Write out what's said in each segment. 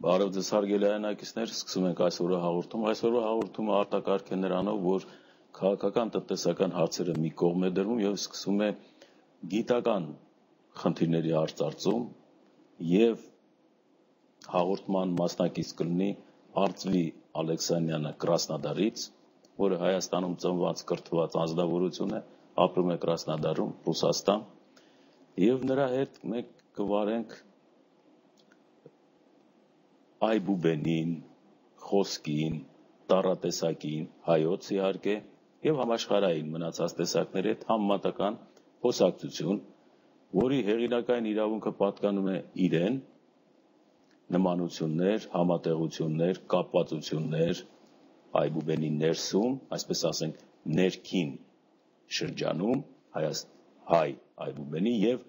Բարև ձեզ հարգելի հայրենակիցներ, սկսում ենք այսօրվա հաղորդումը։ Այսօրվա հաղորդումը արտակարգ է նրանով, որ քաղաքական տնտեսական հարցերը մի կողմ է դրվում եւ սկսում է գիտական խնդիրների արծարծում եւ հաղորդման մասնակից կլինի Արծվի Ալեքսանյանը Կրասնոդարից, որը Հայաստանում ծնված կրթված անձնավորություն է, ապրում է Կրասնոդարում, Ռուսաստան, եւ նրա հետ մենք կվարենք Այբուբենին, խոսքին, տառատեսակին, հայոց իհարկե եւ համաշխարհային մնացած տեսակների հետ համեմատական խոսակցություն, որի հեղինակային իրավունքը պատկանում է իրեն, նմանություններ, համատեղություններ, կապվածություններ Այբուբենի ներսում, այսպես ասենք, ներքին շրջանում հայ Այբուբենի եւ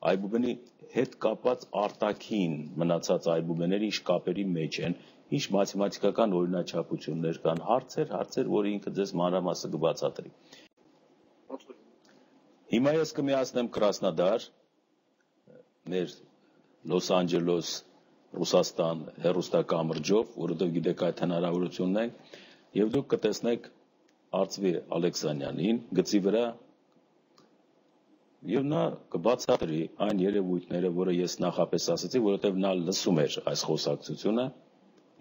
Այբուբենի հետ կապված արտաքին մնացած այբուբեների ինչ կապերի մեջ են, ինչ մաթեմատիկական օրինաչափություններ կան, հարցեր, որ ինքը ձեզ մանրամասը կբացատրի։ Հիմա ես կմիացնեմ Կրասնոդար, մեր Լոս Անջելոս, Ռուսաստան հեռուստակամրջով, որովհետև գիտեք այդ հնարավորությունն է, եւ դուք կտեսնեք Արծվի Ալեքսանյանին գծի վրա եւ նա կբացատրի այն երևույթները, որը ես նախապես ասացի, որովհետեւ նա լսում էր այս խոսակցությունը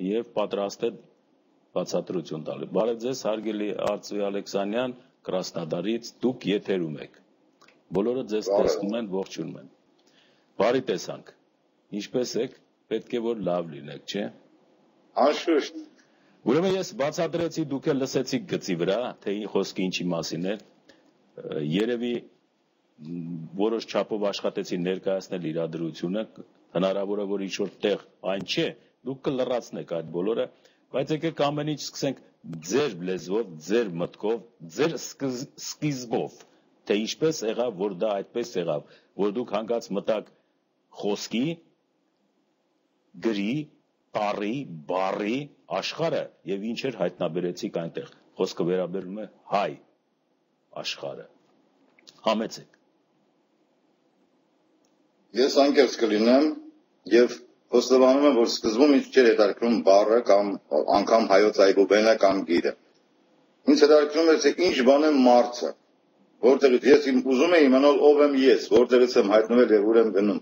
եւ պատրաստ է բացատրություն տալու։ Բարև ձեզ, հարգելի Արծվի Ալեքսանյան, Կրասնոդարից, դուք եթերում եք։ Բոլորը ձեզ տեսնում են, ողջունում են։ Բարի տեսանք։ Ինչպե՞ս եք։ Պետք է որ լավ լինեք, չէ՞։ Անշուշտ։ Ուրեմն ես բացատրեցի, դուք էլ լսեցիք գծի վրա, թե խոսքը ինչի մասին է։ Երևի որոշ չափով աշխատեցի ներկայացնել իրադրությունը, հնարավոր է որ ինչ-որ տեղ այն չէ, դուք կլրացնեք այդ բոլորը, բայց եկեք ամեն ինչ սկսենք ձեր լեզվով, ձեր մտքով, ձեր սկիզբով, թե ինչպես եղավ, որ դա այդպես եղավ, որ դուք հանգած մտակ խոսքի, գրի, տառի, բառի, աշխարհը եւ ինչեր հայտնաբերեցիք այնտեղ։ Խոսքը վերաբերում է հայ աշխարհը։ Համեցեք։ Ես անկեղծ կլինեմ եւ խոստովանում եմ, որ սկզբում ինձ չէր հետաքրքրում բառը կամ անգամ հայոց այբուբենը կամ գիրը։ Ինձ հետաքրքրում էր, թե ինչ բան է մարդը, որտեղից ես ուզում եմ իմանալ ով եմ ես, որտեղից եմ հայտնվել եւ ուր եմ գնում։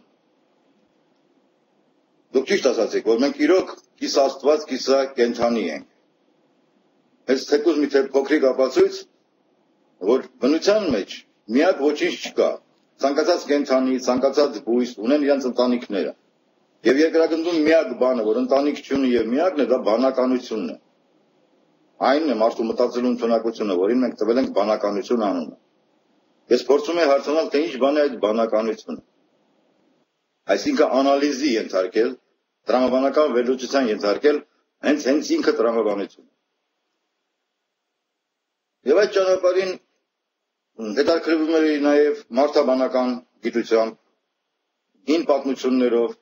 Դուք ճիշտ ասացիք, որ մենք իրոք կիս աստված, կիսա կենդանի ենք։ Այս թեկուզ մի փոքրիկ ապացույց, որ բնության մեջ միակ ոչինչ չկա։ Ցանկացած կենդանի, ցանկացած բույս ունեն իրենց ընտանիքները։ Եվ երկրագնդում միակ բանը, որ ընտանիք չունի եւ միակն է, դա բանականությունն է։ Այն է մարդու մտածելու ընդունակությունը, որին մենք տվել ենք բանականություն անունը։ Ես փորձում եմ հարցանալ, թե ինչ բան է այդ բանականությունը։ Այսինքն անալիզի ենթարկել, տրամաբանական վերլուծության ենթարկել հենց ինքը տրամաբանությունը։ Եվ այդ ճանապարհին հետաքրքրվում էր նաև մարդաբանական գիտությամբ, հին պատմություններով,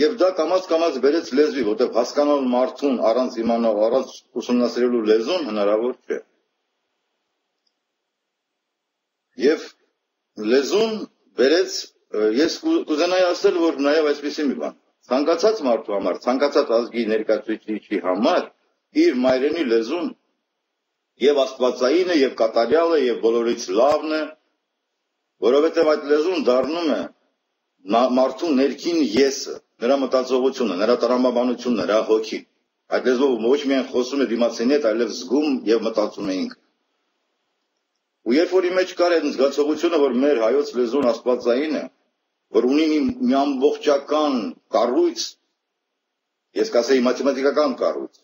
եւ դա կամաց բերեց լեզվի, որտեղ հասկանալ մարդուն առանց իմանալ, առանց ուսումնասիրելու լեզուն հնարավոր չէ։ Եվ լեզուն բերեց, ես կուզենայի ասել, որ նաև այսպեսի մի բան, ցանկացած մարդու համար, ցանկացած ազգի ներկայացուցիչի համար իր մայրենի լեզուն եւ աստվածային է, եւ կատարյալ է, եւ բոլորից լավն է, որովհետեւ այդ լեզուն դառնում է մարդու ներքին եսը, նրա մտածողությունը, նրա տրամաբանությունը, նրա հոգին։ Այդ լեզվով ոչ միայն խոսում է դիմացինի հետ, այլև զգում եւ մտածում է ինքը։ Ու երբ որ իմ մեջ կար այդ զգացողությունը, որ մեր հայոց լեզուն աստվածային է, որ ունի մի ամբողջական կառույց, ես կասեի մաթեմատիկական կառույց,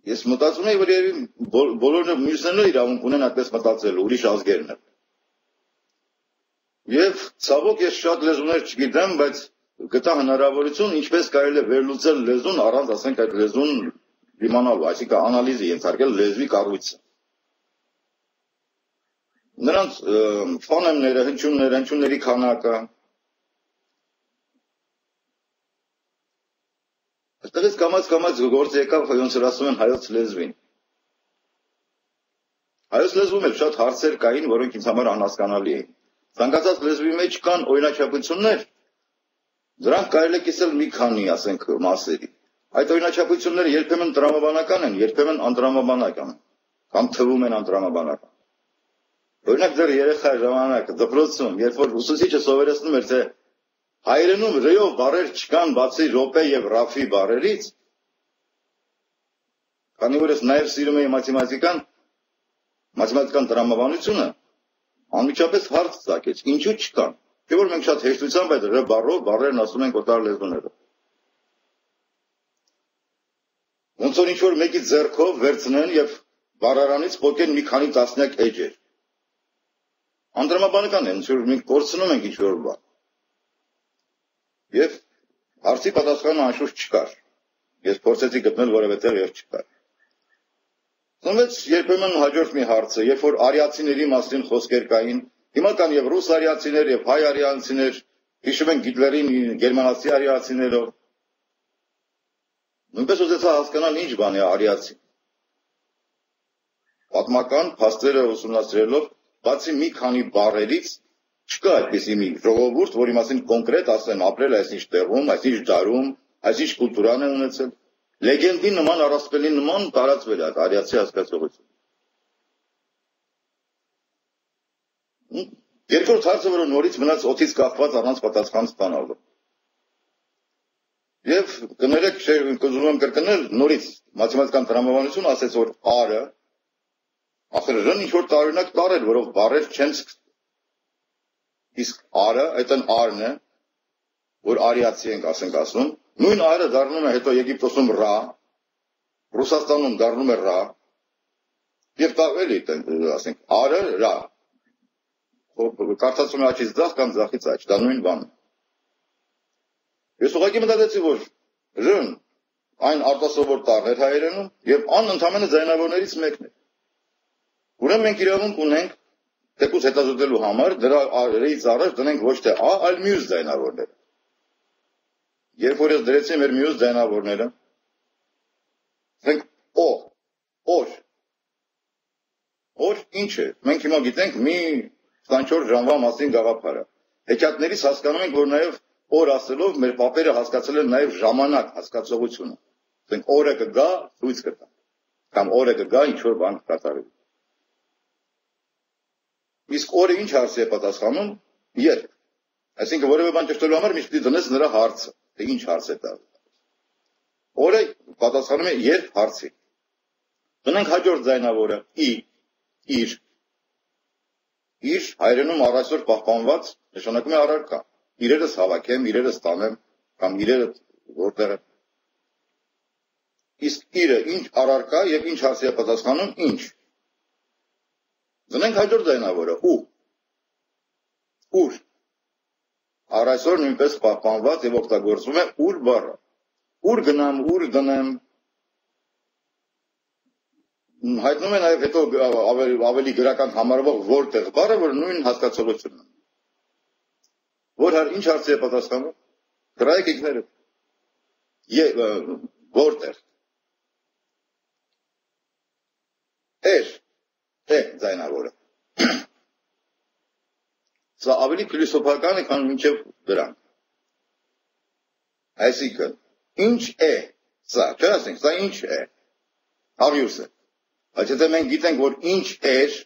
ես մտածում եմ, որ բոլորը մյուսներն իրավունք ունեն այդպես մտածելու, ուրիշ ազգերն են։ Եվ ցավոք ես շատ լեզուներ չգիտեմ, բայց գտա հնարավորություն ինչպես կարելի է վերլուծել լեզուն առանց ասենք այդ լեզուն իմանալու, այսինքն անալիզի ենթարկել լեզվի կառույցը։ Նրանց ֆոնեմները, հնչյունների քանակը, այստեղից կամաց գործ եկավ, ոնց որ ասում են հայոց լեզվին։ Հայոց լեզվում էլ շատ հարցեր կային, որոնք ինձ համար անհասկանալի էին։ Ցանկացած լեզվի մեջ կան օրինաչափություններ, դրանք կարելի է կիսել մի քանի, ասենք, մասերի։ Այդ օրինաչափությունները երբեմն տրամաբանական են, երբեմն անտրամաբանական, կամ թվում են անտրամաբանական։ Օրինակ դեռ երեխայի ժամանակ դպրոցում, երբ որ ուսուցիչը սովորեցնում էր, թե հայերենում ռեով բառեր չկան բացի րոպե եւ ռաֆի բառերից, քանի որ ես նաեւ սիրում եի մաթեմատիկան տրամաբանությունը, անմիջապես հարց ծագեց, ինչու չկան։ Չէ՞ որ մենք շատ հեշտությամբ այդ ռ բառով բառերն ասում ենք օտար լեզուներով։ Ոնց որ ինչ-որ մեկի ձեռքով վերցնեն եւ բառարանից փոկեն մի քանի տասնյակ էջեր։ Անտրամաբանական է, ոնց որ մենք կորցնում ենք ինչ-որ բան։ Եվ հարցի պատասխանը անշուշտ չկար։ Ես փորձեցի գտնել որևէ տեղ եւ չկար։ Ծնվեց երբեմն հաջորդ մի հարցը, երբ որ արիացիների մասին խոսքեր կային, հիմա կան եւ ռուս արիացիներ եւ հայ արիացիներ, հիշում ենք Հիտլերին գերմանացի արիացիներով։ Նույնպես ուզեցա հասկանալ ինչ բան է արիացի։ Պատմական փաստերը ուսումնասիրելով, բացի մի քանի բառերից չկա այդպիսի մի ժողովուրդ, որի մասին կոնկրետ ասեն ապրել այսինչ տեղում, այսինչ դարում, այսինչ կուլտուրան է ունեցել։ Լեգենդի նման, առասպելի նման տարածվել է այդ արիացի հասկացողությունը։ Երկրորդ հարցը, որը նորից մնաց օդից կախված առանց պատասխան ստանալու։ Եվ կներեք, ուզում եմ կրկնել նորից մաթեմատիկան տրամաբանություն ասեց, որ R-ը, ախր ռն ինչ-որ տարօրինակ տառ էր, որով բառեր չեն սկսում։ Իսկ R-ը, այդ այն R-ն է, որ արիացի ենք ասենք ասում, նույն R-ը դառնում է հետո Եգիպտոսում ռա, Ռուսաստանում դառնում է ռա, եւ էլի ասենք R-ը ռա։ Կարծացում է աչից ձախ կամ ձախից աչ, դա նույն բանն է։ Ես ուղղակի մտածեցի, որ ռն այն արտասովոր տառ էր հայերենում եւ ան ընդամենը ձայնավորներից մեկն է։ Ուրեմն մենք իրավունք ունենք թեկուզ հետազոտելու համար դրա ռից առաջ դնենք ոչ թե A, այլ մյուս ձայնավորները։ Երբ որ ես դրեցի մեր մյուս ձայնավորները, ասենք O, օր։ Օր ինչ է։ Մենք հիմա գիտենք մի 24 ժամվա մասին գաղափարը։ Հեքիաթներից հասկանում ենք, որ նաև օր ասելով մեր պապերը հասկացել են նաև ժամանակ հասկացողությունը։ Ասենք օրը կգա, ցույց կտա։ Կամ օրը կգա, ինչ որ բան կկատարվի։ Իսկ օրը ինչ հարցի է պատասխանում։ Երբ։ Այսինքն որևէ բան ճշտելու համար միշտ դնես նրա հարցը, թե ինչ հարց է տալու։ Օրը պատասխանում է երբ հարցի։ Դնենք հաջորդ ձայնավորը իր հայերենում առայսօր պահպանված նշանակում է առարկա։ Իրերս հավաքեմ, իրերս տանեմ, կամ իրերը որտեղ է։ Իսկ իրը ինչ առարկա եւ ինչ հարցի է պատասխանում, ինչ։ Դնենք հաջորդ ձայնավորը ուր։ Առայսօր նույնպես պահպանված եւ օգտագործվում է ուր բառը։ Ուր գնամ, ուր դնեմ։ Հայտնում է նաև հետո ավելի գրական համարվող որտեղ բառը, որ նույն հասկացողությունն է։ Ինչ հարցի է պատասխանում։ Գրայեք ինքներդ։ Որտեղ։ Ձայնավորը։ Սա ավելի փիլիսոփական է, քան մինչև դրան։ Այսինքն, ինչ է սա, չէ՞ ասենք, սա ինչ է։ Հարյուս է։ Բայց եթե մենք գիտենք, որ ինչ էր,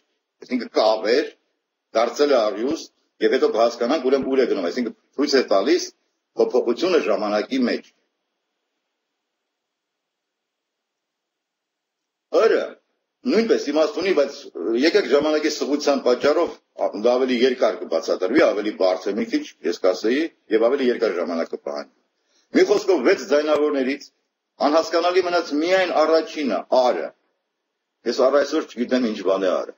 այսինքն կավ էր, դարձել է հարյուս, եւ հետո կհասկանանք, ուրեմն ուր է գնում, այսինքն ցույց է տալիս փոփոխությունը ժամանակի մեջ։ Օրը նույնպես իմաստ ունի, բայց եկեք ժամանակի սղության պատճառով դա ավելի երկար կբացատրվի, ավելի բարձր մի քիչ, ես կասեի, եւ ավելի երկար ժամանակ կպահանջի։ Մի խոսքով 6 ձայնավորներից անհասկանալի մնաց միայն առաջինը, R-ը։ Ես առայսօր չգիտեմ ինչ բան է R-ը։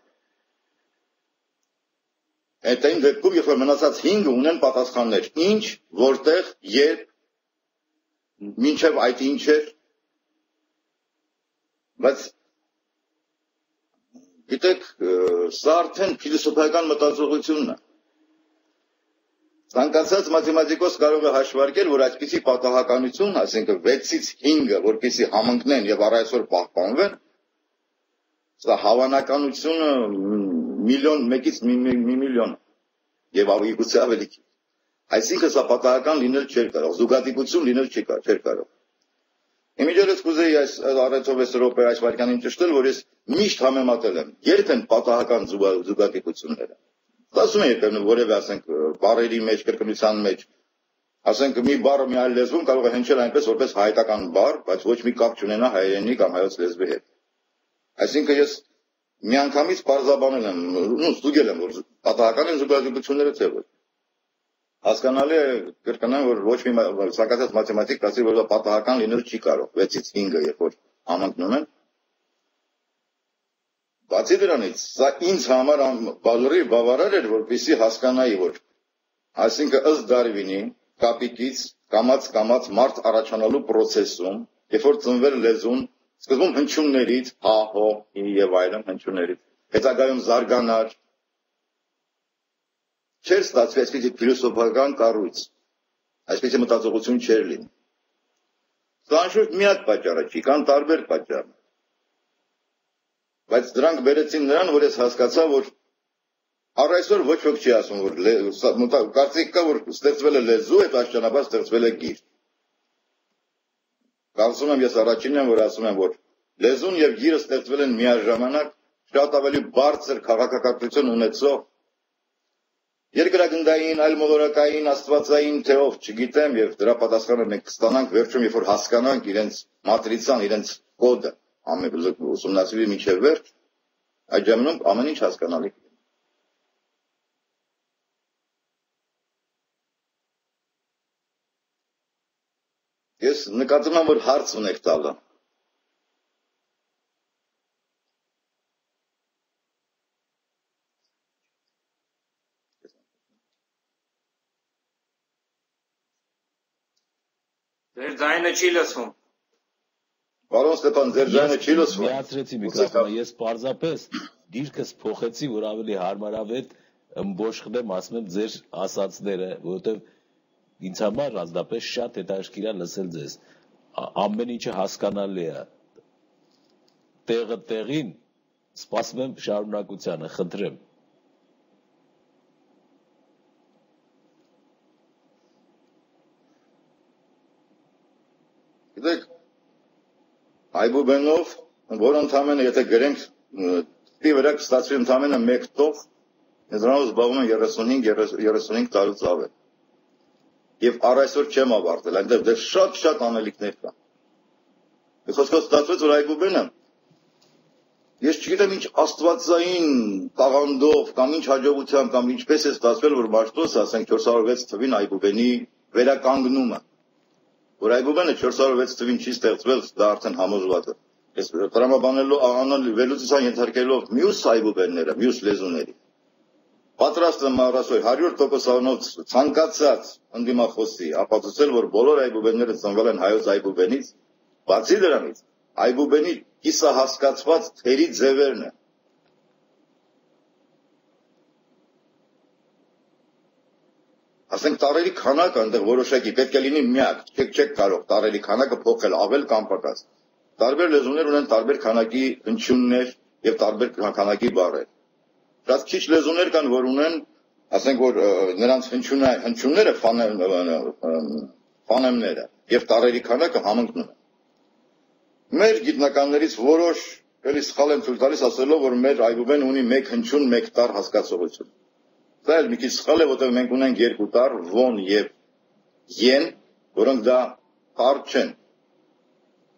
Այդ այն դեպքում, երբ որ մնացած 5-ը ունեն պատասխաններ, ինչ, որտեղ, երբ, մինչև այդ ինչ էր, բայց գիտեք, սա արդեն փիլիսոփայական մտածողությունն է։ Ցանկացած մաթեմատիկոս կարող է հաշվարկել, որ այսպիսի պատահականություն, այսինքն 6-ից 5-ը, որպեսզի համընկնեն եւ առայսօր պահպանվեն, սա հավանականությունը միլիոն, 1-ից մի միլիոն։ եւ ավելի ավելի քիչ։ Այսինքն սա պատահական լինել չէր կարող, զուգադիպություն լինել չէր կարող։ Իմիջիայլոց կուզեի այս առեցով 10 րոպե այս վարքյանին ճշտել, որ ես միշտ համեմատել եմ երբ են պատահական զուգադիպությունները։ Ասում եմ երբեմն որևէ ասենք բառերի մեջ, կրկնության մեջ, ասենք մի բառը մի այլ լեզվում կարող է հնչել այնպես որպես հայկական բառ, բայց ոչ մի կապ չունենա հայերենի կամ հայոց լեզվի հետ։ Այսինքն ես միանգամից պարզաբանել եմ, ստուգել եմ, որ պատահական են զուգադիպությունները թե ոչ։ Հասկանալի է կրկնեմ, որ ոչ մի ցանկացած մաթեմատիկ ասի, որ դա պատահական լինել չի կարող, 6-ից 5-ը երբ որ համընկնում են։ Բացի դրանից, սա ինձ համար բավարար բավարար էր, որպեսզի հասկանայի, որ այսինքն ըստ Դարվինի կապիկից կամաց մարդ առաջանալու process-ում, երբ որ ծնվել լեզուն, սկզբում հնչյուններից, հա, հո, հի եւ այլն հնչյուններից, հետագայում զարգանար, չէր ստացվի այսպիսի փիլիսոփական կառույց, այսպիսի մտածողություն չէր լինի։ Սա անշուշտ միակ պատճառը չի, կան տարբեր պատճառներ։ Բայց դրանք բերեցին նրան, որ ես հասկացա, որ առ այսօր ոչ ոք չի ասում, որ կարծիք կա, որ ստեղծվել է լեզու, այդ աշճանաբար ստեղծվել է գիր։ Կարծում եմ ես առաջինն եմ, որ ասում եմ, որ լեզուն եւ գիրը ստեղծվել են միաժամանակ շատ ավելի բարձր քաղաքակրթություն ունեցող երկրագնդային, այլմոլորակային, աստվածային թեով, չգիտեմ, եւ դրա պատասխանը մենք կստանանք վերջում, երբ որ հասկանանք իրենց մատրիցան, իրենց կոդը, ամեն ուսումնասիրի մինչև վերջ, այդ ժամանակ ամեն ինչ հասկանալի։ Ես նկատում եմ, որ հարց ունեք տալը։ Ձեր ձայնը չի լսվում։ Պարոն Ստեփան, ձեր ձայնը չի լսվում։ Միացրեցի միկրոֆոնը, ես պարզապես դիրքս փոխեցի, որ ավելի հարմարավետ ըմբոշխնեմ, ասում եմ ձեր ասածները, որովհետև ինձ համար ազնապես շատ հետաքրքիր է լսել ձեզ։ Ամեն ինչը հասկանալի է։ Տեղը տեղին, սպասում եմ շարունակությանը, խնդրեմ։ Գիտեք, Այբուբենով, որ ընդամենը, եթե գրենք, տի վրա կստացվի ընդամենը մեկ տող, դրանով զբաղվում են 35 տարուց ավել։ Եվ առ այսօր չեմ ավարտել, այնտեղ դեռ շատ անելիքներ կան։ Խոսքով ստացվեց, որ Այբուբենը, ես չգիտեմ ինչ աստվածային տաղանդով, կամ ինչ հաջողությամբ, կամ ինչպես է ստացվել, որ Մաշտոցը, ասենք 406 թվին Այբուբենի վերականգնումը, որ Այբուբենը 406 թվին չի ստեղծվել, դա արդեն համոզված է։ Ես տրամաբանելու վերլուծության ենթարկելով մյուս Այբուբենները, մյուս լեզուների, պատրաստ եմ առասօր 100%-անոց ցանկացած ընդդիմախոսի ապացուցել, որ բոլոր Այբուբենները ծնվել են հայոց Այբուբենից, բացի դրանից, Այբուբենի կիսահասկացված թերի ձևերն են։ Ասենք տարերի քանակը այնտեղ որոշակի պետք է լինի միակ, չեք կարող տարերի քանակը փոխել ավել կամ պակաս։ Տարբեր լեզուներ ունեն տարբեր քանակի հնչյուններ եւ տարբեր քանակի բառեր։ Շատ քիչ լեզուներ կան, որ ունեն, ասենք որ նրանց հնչյունները ֆոնեմները եւ տարերի քանակը համընկնում են։ Մեր գիտնականներից որոշ էլի սխալ են ցույց տալիս ասելով, որ մեր Այբուբեն ունի մեկ հնչյուն, մեկ տառ հասկացողություն։ Դա էլ մի քիչ սխալ է, որտեղ մենք ունենք երկու տառ, ոն եւ են, որոնք դա տառ չեն։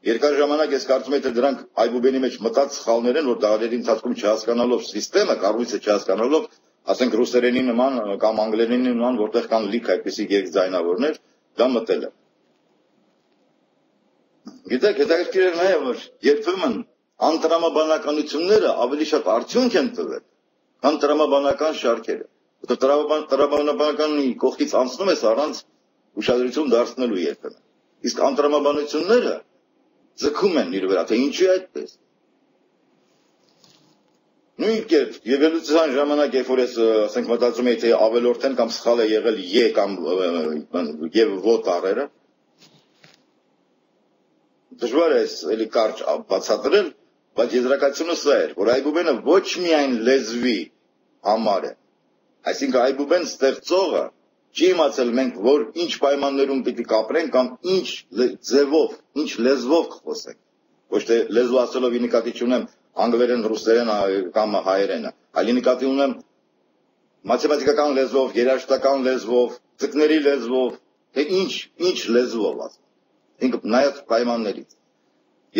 Երկար ժամանակ ես կարծում եմ, թե դրանք Այբուբենի մեջ մտած սխալներ են, որ դարերի ընթացքում չհասկանալով սիստեմը, կառույցը չհասկանալով, ասենք ռուսերենի նման կամ անգլերենի նման, որտեղ կան լիք այդպիսի երկձայնավորներ, դա մտել է։ Գիտեք, հետաքրքիր է նաև, որ երբեմն անտրամաբանականությունները ավելի շատ արդյունք են տվել, քան տրամաբանական շարքերը։ Տրամաբանականի կողքից անցնում ես առանց ուշադրություն դարձնելու երբեմն։ Իսկ անտրամաբանությունները ձգում են իր վրա, թե ինչի այդպես։ Նույն կերպ, եվելուցիան ժամանակ, երբ որ ես ասենք մտածում եի, թե ավելորդ են կամ սխալ է եղել է կամ եւ ո տառերը, դժվար է էլի կարճ բացատրել, բայց եզրակացությունը սա էր, որ Այբուբենը ոչ միայն լեզվի համար է, Այսինքն այբուբեն ստեղծողը չի իմացել մենք որ ինչ պայմաններում պիտի կապրենք կամ ինչ ձևով, ինչ լեզվով կխոսենք։ Ոչ թե լեզու ասելով նկատի չունեմ անգլերեն, ռուսերեն կամ հայերենը, այլ նկատի ունեմ մաթեմատիկական լեզվով, երաժշտական լեզվով, ձկների լեզվով, թե ինչ լեզվով ասեմ։ Ինքը նայած պայմաններից։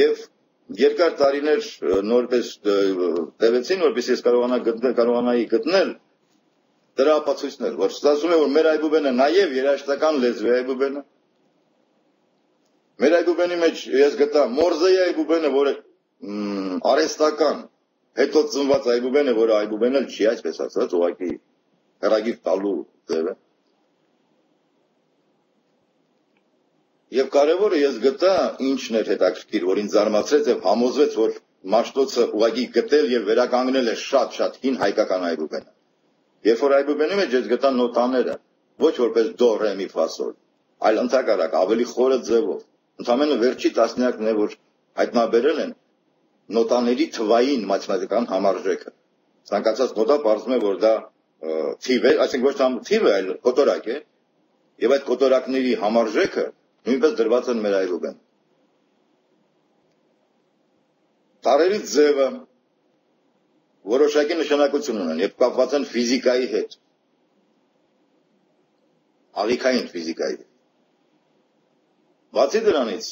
Եվ երկար տարիներ նորպես տևեցին, որպես ես կարողանայի գտնել դրա ապացույցներ, որ ստացվում է, որ մեր այբուբենը նաև երաժշտական լեզու է այբուբենը։ Մեր այբուբենի մեջ ես գտա Մորզեի այբուբենը, որը արհեստական, հետո ծնված այբուբենը, որը այբուբեն էլ չի, այսպես ասած, ուղղակի հեռագիր տալու ձև է։ Եվ կարևորը ես գտա ինչն էր հետաքրքիր, որ ինձ զարմացրեց եւ համոզվեց, որ Մաշտոցը ուղղակի գտել եւ վերականգնել է շատ հին հայկական այբուբենը։ Երբ որ այբուբենի մեջ ես գտա նոտաները, ոչ որպես դո, ռե, մի, ֆա, սոլ, այլ ընդհակառակ ավելի խորը ձևով։ Ընդամենը վերջի տասնյակն է, որ հայտնաբերել են նոտաների թվային մաթեմատիկական համարժեքը։ Ցանկացած նոտա պարզվում է, որ դա թիվ է, այսինքն ոչ թե թիվ է, այլ կոտորակ է, եւ այդ կոտորակների համարժեքը նույնպես դրված են մեր այբուբեն։ Տարերի ձևը որոշակի նշանակություն ունեն եւ կապված են ֆիզիկայի հետ։ Ալիքային ֆիզիկայի հետ։ Բացի դրանից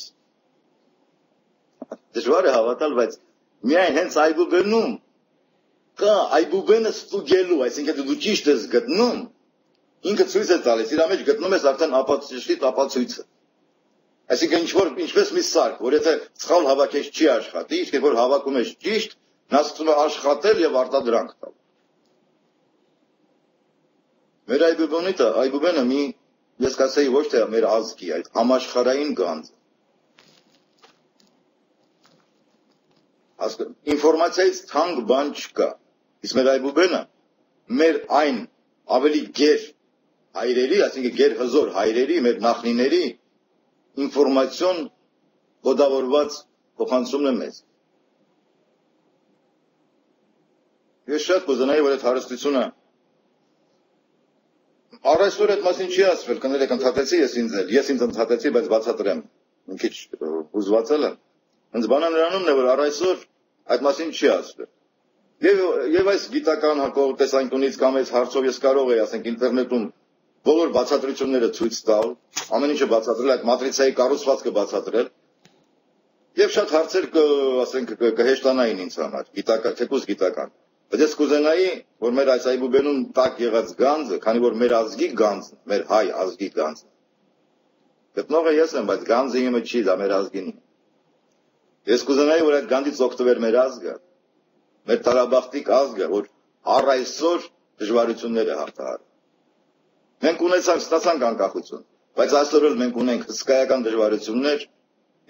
դժվար է հավատալ, բայց միայն հենց այբուբենում կա այբուբենը ստուգելու, այսինքն դու ճիշտ ես գտնում, ինքը ցույց է տալիս, իր մեջ գտնում ես արդեն ապացույցը։ Այսինքն ինչպես մի սարք, որ եթե սխալ հավաքես չի աշխատի, իսկ երբ որ հավաքում ես ճիշտ, նա սկսում է աշխատել եւ արտադրանք տալ։ Մեր այբուբենը մի, ես կասեի ոչ թե մեր ազգի, այդ համաշխարհային գանձ։ Ինֆորմացիայից թանկ բան չկա։ Իսկ մեր այբուբենը մեր այն ավելի գեր հայրերի, այսինքն գեր հզոր հայրերի, մեր նախնիների ինֆորմացիոն կոդավորված փոխանցումն է մեզ։ Ես շատ կուզենայի, որ այդ հարստությունը առայսօր այդ մասին չի ասվել, կներեք ընդհատեցի ես ինձ ընդհատեցի, բայց բացատրեմ, մի քիչ հուզվածել եմ։ Հենց բանը նրանումն է, որ առայսօր այդ մասին չի ասվել։ Եվ այս գիտական տեսանկյունից կամ այս հարցով ես կարող եի, ասենք, ինտերնետում բոլոր բացատրությունները ցույց տալ, ամեն ինչը բացատրել, այդ մատրիցայի կառուցվածքը բացատրել, եւ շատ հարցեր ասենք կհեշտանային ինձ համար, թեկուզ գիտական։ Բայց ես կուզենայի, որ մեր այս այբուբենում տակ եղած գանձը, քանի որ մեր ազգի գանձն, մեր հայ ազգի գանձն։ Գտնողը ես եմ, բայց գանձը իմը չի, դա մեր ազգին է։ Ես կուզենայի, որ այդ գանձից օգտվեր մեր ազգը, մեր տարաբախտիկ ազգը, որ առ այսօր դժվարություններ է հաղթահարում։ Մենք ստացանք անկախություն, բայց այսօր էլ մենք ունենք հսկայական դժվարություններ,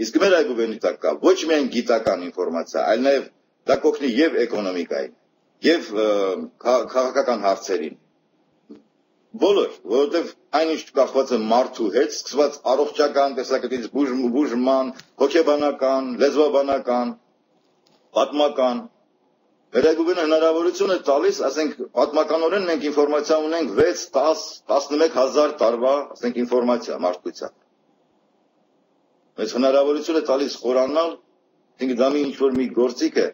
իսկ մեր այբուբենի տակ կա ոչ միայն գիտական ինֆորմացիա, այլ նաև դա կօգնի եւ էկոնոմիկային, եւ քաղաքական հարցերին։ Բոլոր, որովհետեւ այնինչ կախված է մարդու հետ, սկսված առողջական տեսակետից բուժման, հոգեբանական, լեզվաբանական, պատմական, մեր այբուբենը հնարավորություն է տալիս, ասենք, պատմականորեն մենք ինֆորմացիա ունենք 6, 10, 11 հազար տարվա, ասենք, ինֆորմացիա մարդկության։ Մեզ հնարավորություն է տալիս խորանալ, դա մի ինչ-որ մի գործիք է,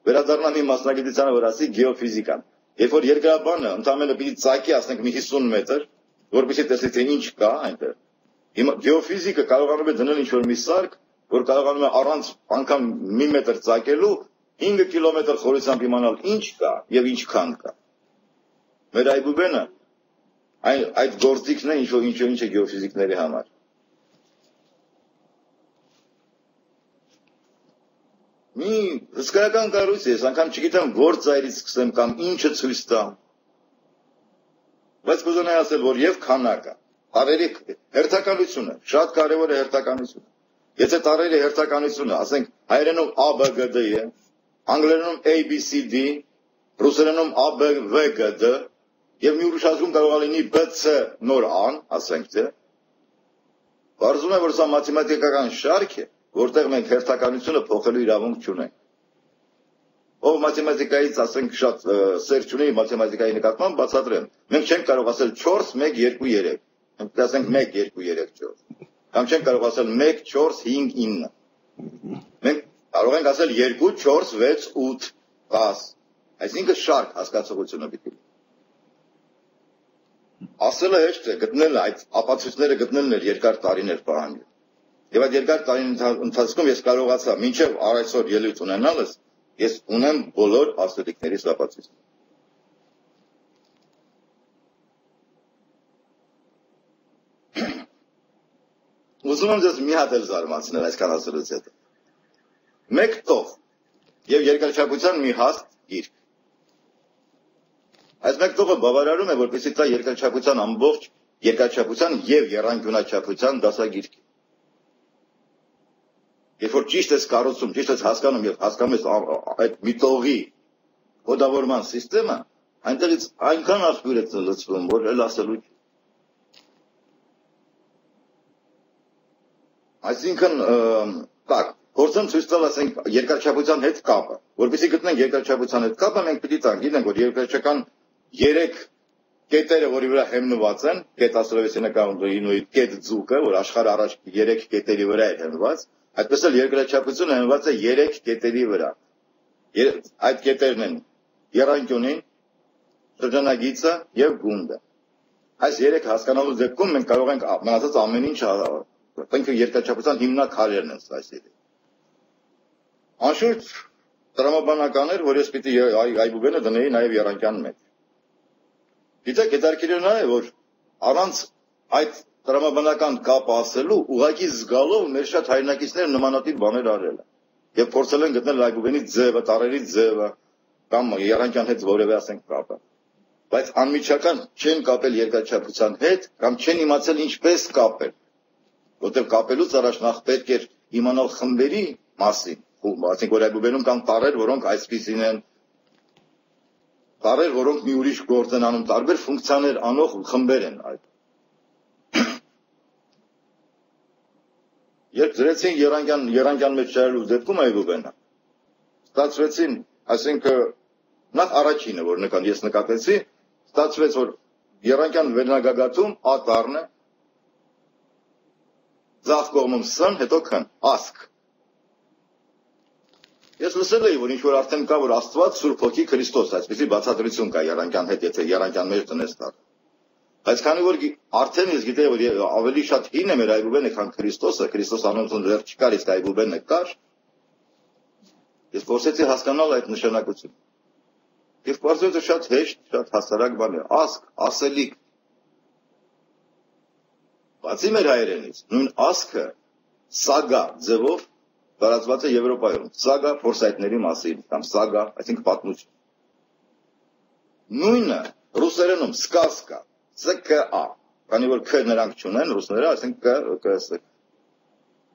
վերադառնամ իմ մասնագիտությանը, որ ասի գեոֆիզիկան։ Երբ որ երկրաբանը ընդամենը պիտի ծակի, ասենք, մի 50 մետր, որպեսզի տեսնի թե ինչ կա այնտեղ։ Հիմա գեոֆիզիկը կարողանում է դնել ինչ-որ մի սարք, որ կարողանում է առանց անգամ մի մետր ծակելու 5 կիլոմետր խորությամբ իմանալ ինչ կա եւ ինչքան կա։ Մեր այբուբենը այդ գործիքն է ինչ է գեոֆիզիկների համար։ Մի հսկայական կառույց է, ես անգամ չգիտեմ որ ծայրից սկսեմ կամ ինչը ցույց տամ։ Բայց կուզենայի ասել, որ եւ քանակը, տարերի հերթականությունը, շատ կարեւոր է հերթականությունը։ Եթե տարերի հերթականությունը, ասենք հայերենում ABGD է, անգլերենում ABCD, ռուսերենում ABVGD, եւ մի ուրիշ ազգում կարող է լինի BC նոր ան, ասենք թե։ Բարձում է, որ սա մաթեմատիկական շարք է, որտեղ մենք հերթականությունը փոխելու իրավունք չունենք։ ով մաթեմատիկայից ասենք շատ սեր չունի մաթեմատիկայի նկատմամբ բացատրեմ։ Մենք չենք կարող ասել 4 1 2 3։ Մենք ասենք 1 2 3 4։ Կամ չենք կարող ասել 1 4 5 9։ Մենք կարող ենք ասել 2 4 6 8 10։ Այսինքն շարք հասկացողությունը պիտի։ Ասելը հեշտ է, գտնելը այդ ապացույցները գտնելն էր երկար տարիներ պահանջել։ Եվ այդ երկար տարիների ընթացքում ես կարողացա մինչև այսօր ելույթ ունենալս, ես ունեմ բոլոր աստղիկների ապացույցները։ Ուզում եմ ձեզ մի հատ էլ զարմացնել այսքան ասելուց հետո։ Մեկ տող եւ երկրաչափության մի հաստ գիրք։ Այս մեկ տողը բավարարում է, որպեսզի դա երկրաչափության ամբողջ երկրաչափության եւ եռանկյունաչափության դասագիրք։ Երբ որ ճիշտ ես կառուցում, ճիշտ ես հասկանում եւ հասկանում ես այդ մի տողի կոդավորման համակարգը, այնտեղից այնքան աղբյուր է լցվում, որ էլ ասելու չի։ Այսինքն, так, փորձեմ ցույց տալ, ասենք, երկրաչափության հետ կապը։ Որպեսզի գտնենք երկրաչափության հետ կապը, մենք պիտի տանք, գիտենք, որ երկրաչափական 3 կետերը, որի վրա հիմնված են, կետ աստրովեսենական նույն կետ ձուկը, որ աշխարհը առաջ 3 կետերի վրա է հիմնված, այդպես էլ երկրաչափությունը հիմնված է 3 կետերի վրա։ Այդ կետերն են եռանկյունին, շրջանագիծը եւ գունդը։ Այս 3 հասկանալու դեպքում մենք կարող ենք մնացած ամեն ինչ Մենք երկրաչափության հիմնաքարերն են այսերի։ Անշուշտ տրամաբանական էր, որ ես պիտի այբուբենը դնեի նաև եռանկյան մեջ։ Գիտեք, հետաքրքիրն է, որ առանց այդ տրամաբանական կապը ասելու, ուղղակի զգալով մեր շատ հայրենակիցները նմանատիպ բաներ արել են։ Եվ փորձել են գտնել այբուբենի ձևը, տարերի ձևը, կամ եռանկյան հետ որևէ ասենք կապը։ Բայց անմիջական չեն կապել երկրաչափության հետ, կամ չեն իմացել ինչպես կապել։ Որտեղ կապելուց առաջ նախ պետք էր իմանալ խմբերի մասին, ասենք որ այբուբենում կան տարրեր, որոնք այսպիսին են, տարրեր, որոնք մի ուրիշ գործ են անում, տարբեր ֆունկցիաներ անող խմբեր են այդ։ Երբ դրեցին եռանկյան մեջ շարելու դեպքում այբուբենը, ստացվեցին, այսինքն նախ առաջինը, որ ես նկատեցի, ստացվեց, որ եռանկյան վերնագագաթում A տառն է, ձախ կողմում S-ն, հետո K-ն, ասկ։ Ես լսել էի, որ ինչ-որ արդեն կա, որ Աստված Սուրբ Հոգի Քրիստոս, այսպիսի բացատրություն կա եռանկյան հետ, եթե եռանկյան մեջ տնես տար։ Բայց քանի որ արդեն ես գիտեի, որ ավելի շատ հին է մեր այբուբենը, քան Քրիստոսը, Քրիստոս անունցուն դեռ չկար, իսկ այբուբենը կար, ես փորձեցի հասկանալ այդ նշանակությունը։ Եվ պարզվեց շատ հեշտ, շատ հասարակ բան է, ասկ, ասելիք։ Բացի մեր հայերենից, նույն ասկը սագա ձևով տարածված է Եվրոպայում, սագա փորձայթների մասին, կամ սագա, այսինքն պատմություն։ Նույնը ռուսերենում սկազկա, SKA, քանի որ K նրանք չունեն, ռուսները, այսինքն KS։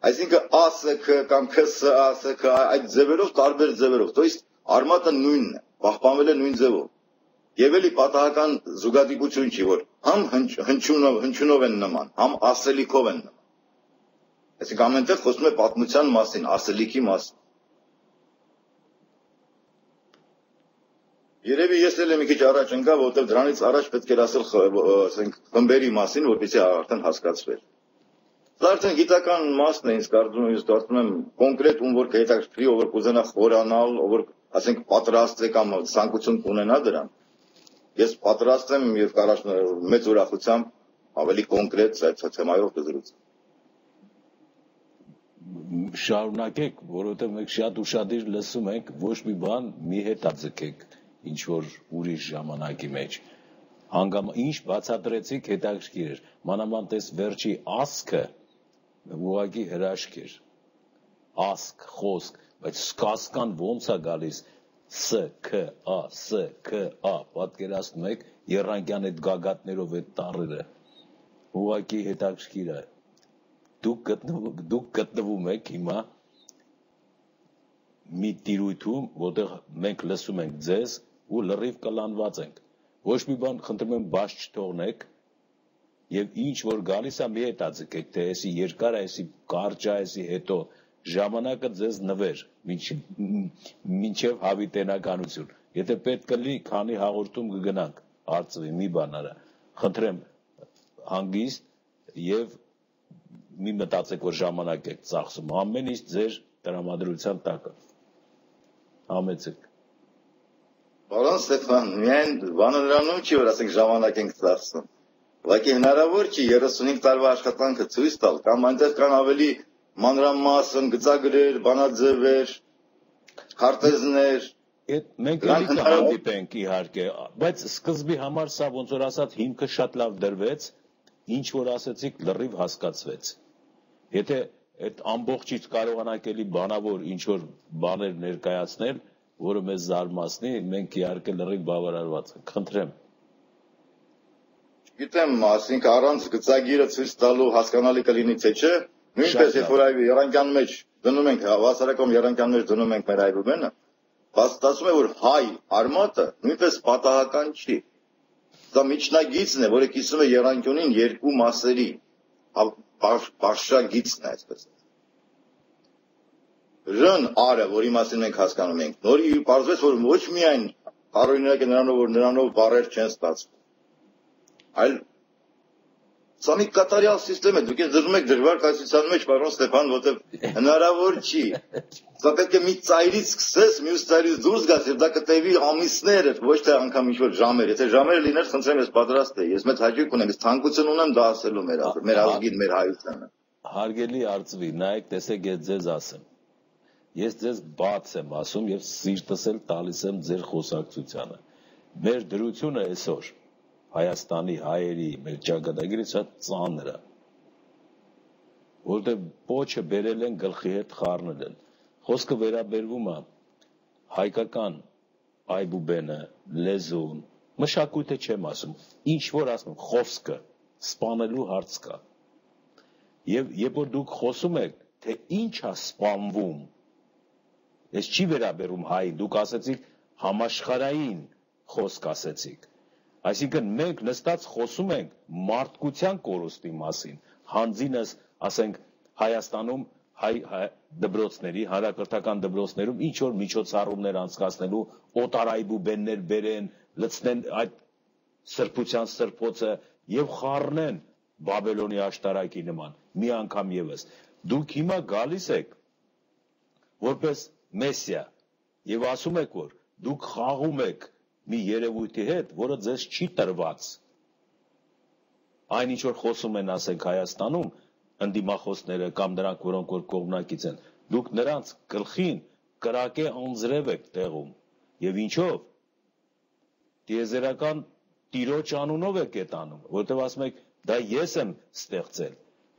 Այսինքն ASK կամ KSA, SKA, այդ ձևերով տարբեր ձևերով, то есть արմատը նույնն է, պահպանվել է նույն ձևով։ Եվ էլի պատահական զուգադիպություն չի, որ համ հնչյունով են նման, համ ասելիքով են նման։ Այսինքն ամենտեղ խոսում է պատմության մասին, ասելիքի մասին։ Երևի ես էլ մի քիչ առաջ ընկա, որովհետև դրանից առաջ պետք էր ասել խմբերի մասին, որպեսզի արդեն հասկացվեր։ Դա արդեն գիտական մասն է, ինձ կարծում եմ կոնկրետ ում որ կհետաքրքրի, ով որ կուզենա խորանալ, ով որ ասենք պատրաստ է կամ ցանկություն կունենա դրան։ Ես պատրաստ եմ եւ մեծ ուրախությամբ ավելի կոնկրետ այդ թեմայով կզրուցեմ։ Շարունակեք, որովհետեւ մենք շատ ուշադիր լսում ենք, ոչ մի բան մի հետա ձգեք, ինչ որ ուրիշ ժամանակի մեջ։ Հանգամ ինչ բացատրեցիք հետաքրքիր էր, մանավանդ այս վերջի ասկը ուղղակի հրաշք էր։ Ասկ, խոսք, բայց սկազկան ոնց է գալիս SKA, պատկերացնում եք եռանկյան այդ գագաթներով այդ տառերը, ուղղակի հետաքրքիր է, դուք գտնվում եք հիմա մի տիրույթում, որտեղ մենք լսում ենք ձեզ ու լրիվ կլանված ենք, ոչ մի բան խնդրում եմ բաց չթողնեք եւ ինչ որ գալիս է մի հետաձգեք, թե էսի երկար է, էսի կարճ է, էսի հետո ժամանակը ձեզ նվեր մինչև հավիտենականություն։ Եթե պետք կլինի, քանի հաղորդում կգնանք, արծվի, մի բան արա։ Խնդրեմ հանգիստ եւ մի մտածեք, որ ժամանակ եք ծախսում, ամեն ինչ ձեր տրամադրության տակը։ Համեցեք։ Պարոն Ստեփան, միայն բանը նրանում չի, որ ասենք ժամանակ ենք ծախսում։ Ուղղակի հնարավոր չի 35 տարվա աշխատանքը ցույց տալ, կամ այնտեղ կան ավելի մանրամասն գծագրեր, բանաձևեր, քարտեզներ։ Մենք էլի կհանդիպենք իհարկե, բայց սկզբի համար սա ոնց որ ասած հիմքը շատ լավ դրվեց, ինչ որ ասեցիք լրիվ հասկացվեց։ Եթե այդ ամբողջից կարողանանք էլի բանավոր ինչ որ բաներ ներկայացնել, որը մեզ զարմացնի, մենք իհարկե լրիվ բավարարված ենք։ Խնդրեմ։ Գիտեմ, ասենք առանց գծագիրը ցույց տալու հասկանալի կլինի թե չէ, նույնպես երբ որ այ երանգյան մեջ դնում ենք, հավասարակողմ երանգյան մեջ դնում ենք մեր այբուբենը, փաստացում է, որ հայ արմատը նույնպես պատահական չի։ Դա միջնագիծն է, որը կիսում է երանգյունին երկու մասերի, բարձրագիծն է, այսպես։ Ռն արը, որի մասին մենք հասկանում ենք, նորի պարզվեց, որ ոչ միայն առօրինակ է նրանով, որ նրանով բառեր չեն ստացվում, այլ սա մի կատարյալ սիստեմ է, դուք դրում եք դժվար կայացության մեջ, պարոն Ստեփան, որտեղ հնարավոր չի։ Սա պետք է մի ծայրից սկսես, մյուս ծայրից դուրս գաս, եւ դա կտևի ամիսներ, ոչ թե անգամ ինչ-որ ժամեր։ Եթե ժամերը լիներ, խնդրեմ, ես պատրաստ եմ։ Ես մեծ հաճույք ունեմ, ես թանկություն ունեմ դա ասելու մեր ազգին, մեր հայությանը։ Հարգելի արծվի, նայեք, տեսեք, ես ձեզ ասեմ։ Ես ձեզ բաց եմ ասում եւ սիրտս էլ տալիս եմ ձեր խոսակցությանը։ Մեր դրությունը այսօր Հայաստանի հայերի մեր ճակատագիրը շատ ծանր է, որտեղ պոչը բերել են գլխի հետ խառնել են։ Խոսքը վերաբերվում է հայկական այբուբենը, լեզուն, մշակույթը չեմ ասում, ինչ որ ասում, խոսքը, սպանելու հարց կա։ Եվ երբ որ դուք խոսում եք, թե ինչ է սպանվում, ես չի վերաբերում հայի, դուք ասեցիք համաշխարհային խոսք ասեցիք։ Այսինքն մենք նստած խոսում ենք մարդկության կորուստի մասին, հանձինս, ասենք, Հայաստանում հայ դպրոցների, հանրակրթական դպրոցներում ինչ որ միջոցառումներ անցկացնելու, օտարայբուբեններ բերեն, լցնեն այդ սրբության սրբոցը եւ խառնեն Բաբելոնի աշտարակի նման, մի անգամ եւս։ Դուք հիմա գալիս եք որպես մեսիա եւ ասում եք, որ դուք խաղում եք մի երևույթի հետ, որը ձեզ չի տրված։ Այն ինչ որ խոսում են, ասենք Հայաստանում, ընդդիմախոսները կամ նրանք, որոնք որ կողմնակից են, դուք նրանց գլխին կրակե անձրև եք տեղում։ Եվ ինչով։ Տիեզերական տիրոջ անունով եք այդ անում, որտեղ ասում եք, դա ես եմ ստեղծել,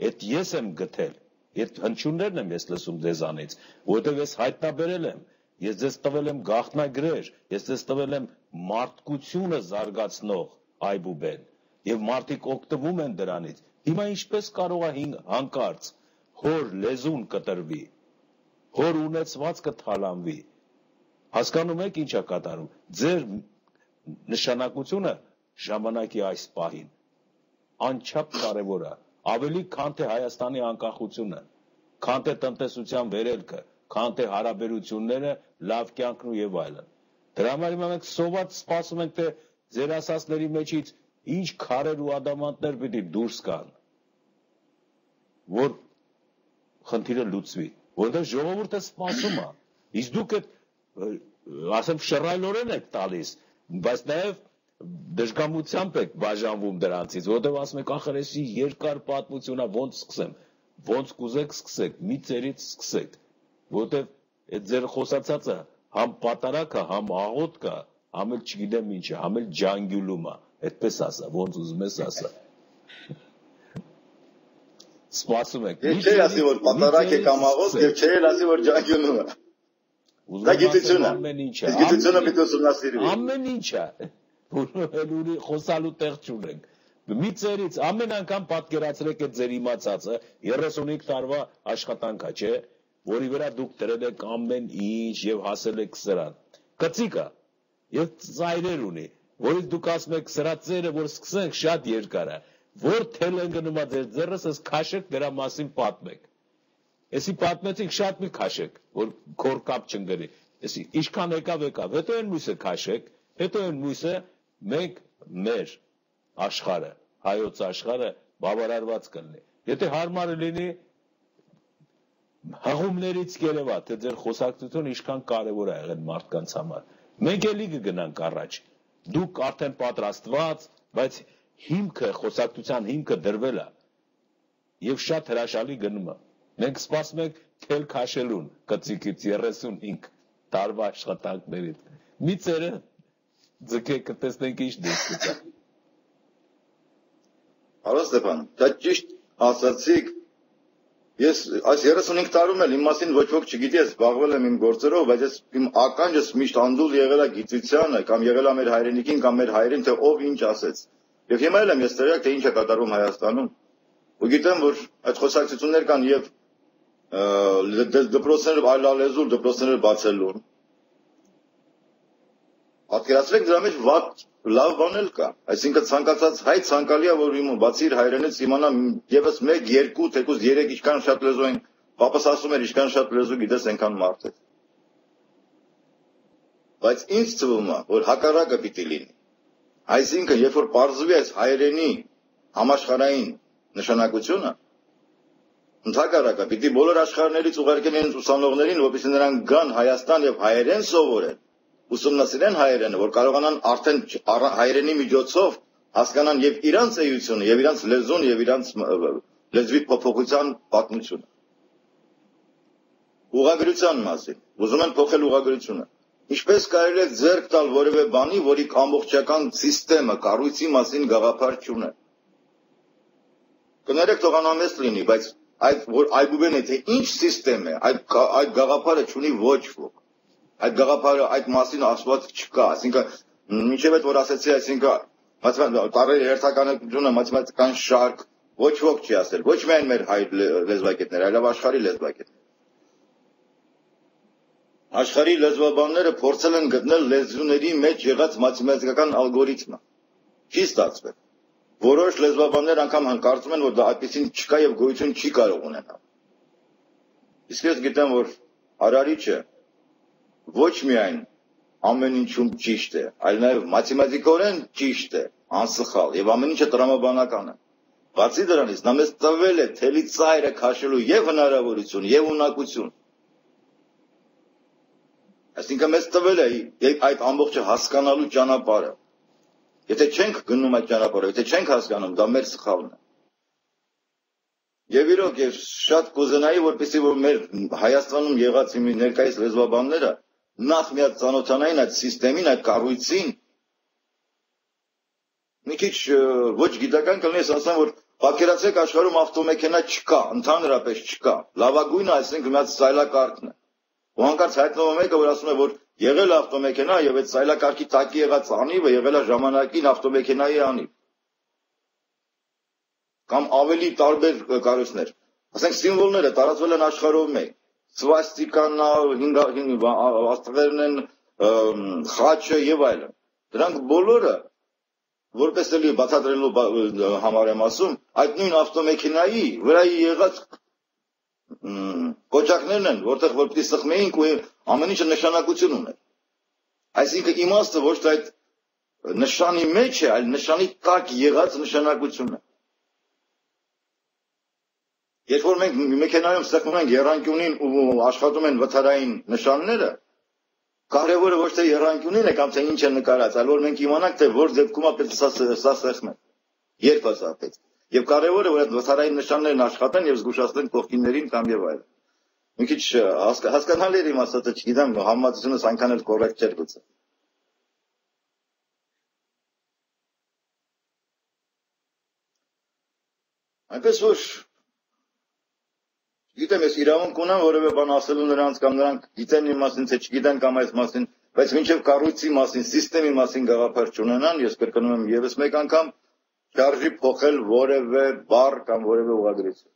այդ ես եմ գտել, այդ հնչյուններն եմ ես լսում ձեզանից, որտեղ ես հայտնաբերել եմ, ես ձեզ տվել եմ գաղտնագրեր, ես ձեզ տվել եմ մարդկությունը զարգացնող այբուբեն, եւ մարդիկ օգտվում են դրանից։ Հիմա ինչպես կարող է հանկարծ հոր լեզուն կտրվի, հոր ունեցվածքը թալանվի։ Հասկանում եք ինչ է կատարում։ Ձեր նշանակությունը ժամանակի այս պահին անչափ կարևոր է, ավելի քան թե Հայաստանի անկախությունը, քան թե տնտեսության վերելքը, քան թե հարաբերությունները, լավ կյանքն ու եւ այլն։ Դրա համար մենք սոված սպասում ենք, թե ձեր ասածների մեջից ինչ քարեր ու ադամանդներ պիտի դուրս գան, որ խնդիրը լուծվի, որովհետեւ ժողովուրդը սպասում է։ Իսկ դուք այդ ասեմ շռայլորեն եք տալիս, բայց նաեւ դժգամությամբ եք բաժանվում դրանցից, որովհետեւ ասում եք ախր էսի երկար պատմություն է, ոնց սկսեմ, ոնց կուզեք սկսեք, մի ծերից սկսեք, որովհետեւ այդ ձեր խոսացածը համ պատարակ է, համ աղոթք է, համ էլ չգիտեմ ինչ է, համ էլ ջանգյուլում է, այդպես ասա, ոնց ուզում ես ասա։ Սպասում եք։ Ես չէի ասի, որ պատարակ է կամ աղոթք, եւ չէի ասի, որ ջանգյուլում է։ Դա գիտություն է։ Ամեն ինչ է։ Գիտությունը պիտի ուսումնասիրվի։ Ամեն ինչ է։ Ուրի խոսալու տեղ չունենք։ Մի ծերից ամեն անգամ պատկերացրեք այդ ձեր իմացածը 35 տարվա աշխատանք է, չէ՞, որի վրա դուք դրել եք ամեն ինչ եւ հասել եք սրան։ Կծիկ է եւ ծայրեր ունի, որից դուք ասում եք սրա ծերը, որ սկսենք շատ երկար է, որ թել են գնում ձեր ձեռս, ըս քաշեք դրա մասին պատմեք։ Էսի պատմեցիք շատ մի քաշեք, որ քոր կապ չընկրի։ Էսի ինչքան եկավ, հետո այն մույսը քաշեք, հետո այն մույսը մենք մեր աշխարհը, հայոց աշխարհը բավարարված կլինի։ Եթե հարմար լինի հղումներից երևա, թե ձեր խոսակցությունը ինչքան կարևոր է եղել մարդկանց համար։ Մենք էլի կգնանք առաջ։ Դուք արդեն պատրաստված, բայց հիմքը, խոսակցության հիմքը դրվել է եւ շատ հրաշալի գնում է։ Մենք սպասում ենք թել քաշելուն, կծիկից 35 տարվա աշխատանքներից։ Մի ծերը ձգեք, կտեսնենք ինչ դեպք կա։ Արո Ստեփան, դա ճիշտ ասացիք։ Ես այս 35 տարում էլ իմ մասին ոչ ոք չգիտի, ես զբաղվել եմ իմ գործերով, բայց ես իմ ականջս միշտ անդուլ եղել է գիտությանը, կամ եղել է մեր հայրենիքին, կամ մեր հայրին, թե ով ինչ ասեց։ Եվ հիմա էլ եմ ես տեղյակ, թե ինչ է կատարվում Հայաստանում։ Ու գիտեմ, որ այդ խոսակցություններ կան եւ դպրոցները այլալեզու դպրոցները բացելու։ Պատկերացրեք դրա մեջ վատ լավ բան էլ կա։ Այսինքն ցանկացած հայ ցանկալի է, որ բացի իր հայրենից իմանա եւս 1, 2, թեկուզ 3 ինչքան շատ լեզու են, պապս ասում էր ինչքան շատ լեզու գիտես այնքան մարդ է։ Բայց ինձ թվում է, որ հակառակը պիտի լինի։ Այսինքն, երբ որ պարզվի այս հայրենի համաշխարհային նշանակությունը, ընդհակառակը պիտի բոլոր աշխարհներից ուղարկեն իրենց ուսանողներին, որպեսզի նրանք գան Հայաստան եւ հայերեն սովորեն, ուսումնասիրեն հայերենը, որ կարողանան արդեն հայերենի միջոցով հասկանան եւ իրանց էությունը, եւ իրանց լեզուն, եւ իրանց լեզվի փոփոխության պատմությունը։ Ուղղագրության մասին, ուզում են փոխել ուղղագրությունը։ Ինչպես կարելի է ձեռք տալ որևէ բանի, որի ամբողջական համակարգը, կառույցի մասին գաղափար չունի։ Կներեք թող անամեստ լինի, բայց այդ որ այբուբեն է, թե ինչ համակարգ է, այդ գաղափարը չունի ոչ ոք։ Այդ գաղափարը այդ մասին ասված չկա, այսինքն մինչև այդ որ ասեցի, այսինքն տարերի հերթականությունը մաթեմատիկական շարք ոչ ոք չի ասել, ոչ միայն մեր հայ լեզվակետները, այլև աշխարհի լեզվակետները։ Աշխարհի լեզվաբանները փորձել են գտնել լեզուների մեջ եղած մաթեմատիկական ալգորիթմը։ Չի ստացվել։ Որոշ լեզվաբաններ անգամ կարծում են, որ դա այդպեսին չկա եւ գոյություն չի կարող ունենալ։ Իսկ ես գիտեմ, որ արարիչը ոչ միայն ամեն ինչում ճիշտ է, այլ նաեւ մաթեմատիկորեն ճիշտ է, անսխալ եւ ամեն ինչը տրամաբանական է։ Բացի դրանից նա մեզ տվել է թելի ծայրը քաշելու եւ հնարավորություն եւ ունակություն։ Այսինքն մեզ տվել է այդ ամբողջը հասկանալու ճանապարհը։ Եթե չենք գնում այդ ճանապարհը, եթե չենք հասկանում, դա մեր սխալն է։ Եվ իրոք ես շատ կուզենայի, որպեսզի որ մեր Հայաստանում եղած իմ ներկայիս լեզվաբանները նախ մի հատ ծանոթանային այդ համակարգին, այդ կառույցին։ Մի քիչ ոչ գիտական կլինի, ասեմ, որ պատկերացրեք աշխարհում ավտոմեքենա չկա, ընդհանրապես չկա։ Լավագույնը, այսինքն մի հատ սայլակարգն է։ Ու հանկարծ հայտնվում է մեկը, որ ասում է, որ եղել է ավտոմեքենա եւ այդ սայլակարգի տակի եղած անիվը եղել է ժամանակին ավտոմեքենայի անիվ։ Կամ ավելի տարբեր կառույցներ։ Ասենք սիմվոլները տարածվել են աշխարհով մեկ։ Սվաստիկան, աստղերն են, խաչը եւ այլն։ Դրանք բոլորը, որպես էլի բացատրելու համար եմ ասում, այդ նույն ավտոմեքենայի վրա եղած կոճակներն են, որտեղ որ պիտի սխմեինք ու ամեն ինչը նշանակություն ուներ։ Այսինքն իմաստը ոչ թե այդ նշանի մեջ է, այլ նշանի տակ եղած նշանակությունը։ Երբ որ մենք մեքենայում սեղմում ենք եռանկյունին ու աշխատում են վթարային նշանները, կարևորը ոչ թե եռանկյունին է կամ թե ինչ է նկարած, այլ որ մենք իմանանք, թե որ դեպքում է պետք սա սեղմել։ Երբ է սա պետք։ Եվ կարևորը որ այդ վթարային նշաններն աշխատեն եւ զգուշացնեն կողքիններին կամ եւ այլն։ Մի քիչ հասկանալի է իմ ասածը, չգիտեմ, համեմատությունս այնքան էլ կոռեկտ չէր գուցե։ Այնպես որ գիտեմ, ես իրավունք ունեմ որևէ բան ասելու նրանց կամ նրանք գիտեն իմ մասին, թե չգիտեն կամ այս մասին, բայց մինչև կառույցի մասին, համակարգի մասին գաղափար չունենան, ես կրկնում եմ եւս մեկ անգամ, չարժի փոխել որևէ բառ կամ որևէ ուղղագրություն։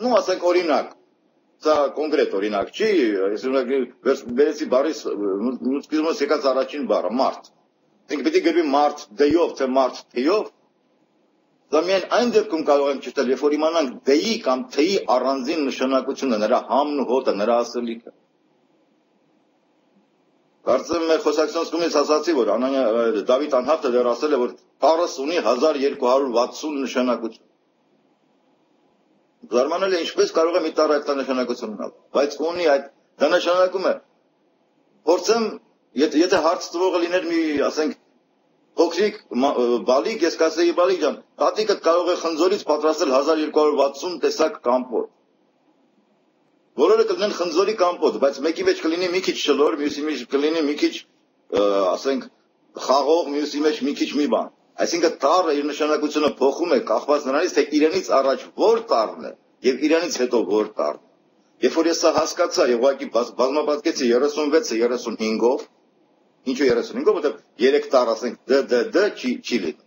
Ну, ասենք օրինակ, սա կոնկրետ օրինակ չի, ես վերցի բառի սկիզբից եկած առաջին բառը՝ մարդ։ Ինքը պիտի գրվի մարդ դեյով, թե մարդ թեյով, Դա միայն այն դեպքում կարող ենք ճշտել, երբ որ իմանանք D-ի կամ T-ի առանձին նշանակությունը, նրա համն ու հոտը, նրա ասելիքը։ Կարծեմ մեր խոսակցության սկզբից ասացի, որ Դավիթ Անհավտը դեռ ասել է, որ տառս ունի 1260 նշանակություն։ Զարմանալի է, ինչպես կարող է մի տառ այդ նշանակություն ունենալ, բայց ունի այդ, դա նշանակում է, փորձեմ, եթե հարց տվողը լիներ մի, ասենք, փոքրիկ բալիկ, ես կասեի բալիկ ջան, տատիկը կարող է խնձորից պատրաստել 1260 տեսակ կամպոտ։ Բոլորը կլինեն խնձորի կամպոտ, բայց մեկի մեջ կլինի մի քիչ շլոր, մյուսի մեջ կլինի մի քիչ, ասենք, խաղող, մյուսի մեջ մի քիչ մի բան։ Այսինքն տառը իր նշանակությունը փոխում է կախված նրանից, թե իրենից առաջ որ տառն է եւ իրենից հետո որ տառն է։ Երբ որ ես սա հասկացա եւ ուղղակի բազմապատկեցի 36-ը 35-ով, ինչու 35-ով, որտեղ 3 տառ, ասենք, D չի լինի։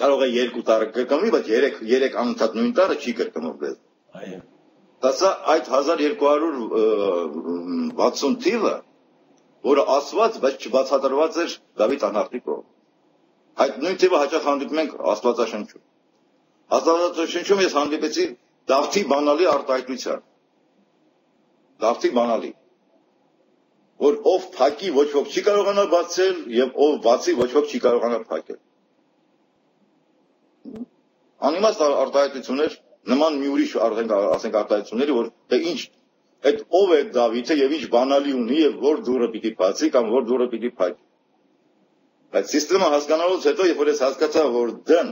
Կարող է 2 տառը կրկնվի, բայց 3 անընդհատ նույն տառը չի կրկնվի։ Այո։ Դա այդ 1260 թիվը, որը ասված, բայց չբացատրված էր Դավիթ Անհավտի կողմից։ Այդ նույն թիվը հաճախ հանդիպում ենք Աստվածաշնչում։ Աստվածաշնչում ես հանդիպեցի Դավթի բանալի արտահայտության։ Դավթի բանալի, որ ով փակի ոչ ոք չի կարողանա բացել եւ ով բացի ոչ ոք չի կարողանա փակել։ Անիմաստ արտահայտություններ նման մի ուրիշ ասենք արտահայտությունների, որ թե ինչ այդ ով է Դավիթը եւ ինչ բանալի ունի եւ որ դուռը պիտի բացի կամ որ դուռը պիտի փակի։ Այդ համակարգը հասկանալուց հետո, երբ որ ես հասկացա, որ դն,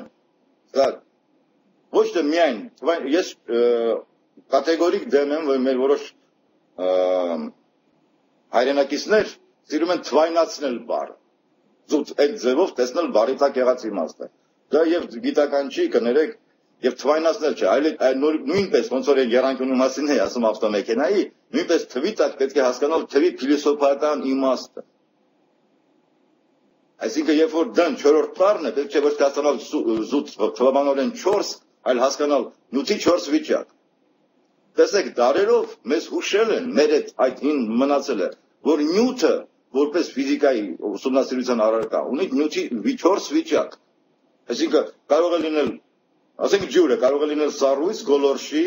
դա ոչ թե միայն, ես կատեգորիկ դեմ եմ, որ մեր որոշ հայրենակիցներ սիրում են թվայնացնել բառը։ Զուտ այդ ձևով տեսնել բառի տակ եղած իմաստը։ Դա եւ գիտական չի, կներեք, եւ թվայնացնել չէ, այլ նույնպես ոնց որ եռանկյունի մասին է ասում ավտոմեքենայի, նույնպես թվի տակ պետք է հասկանալ թվի փիլիսոփայական իմաստը։ Այսինքն երբ որ դն 4-րդ տառն է, պետք չէ ոչ հասկանալ զուտ թվաբանորեն 4, այլ հասկանալ նյութի 4 վիճակ։ Տեսեք, դարերով մեզ հուշել են, մեր այդ հին մնացել է, որ նյութը, որպես ֆիզիկայի ուսումնասիրության առարկա, ունի նյութի 4 վիճակ։ Այսինքն կարող է լինել, ասենք ջուրը, կարող է լինել սառույց, գոլորշի,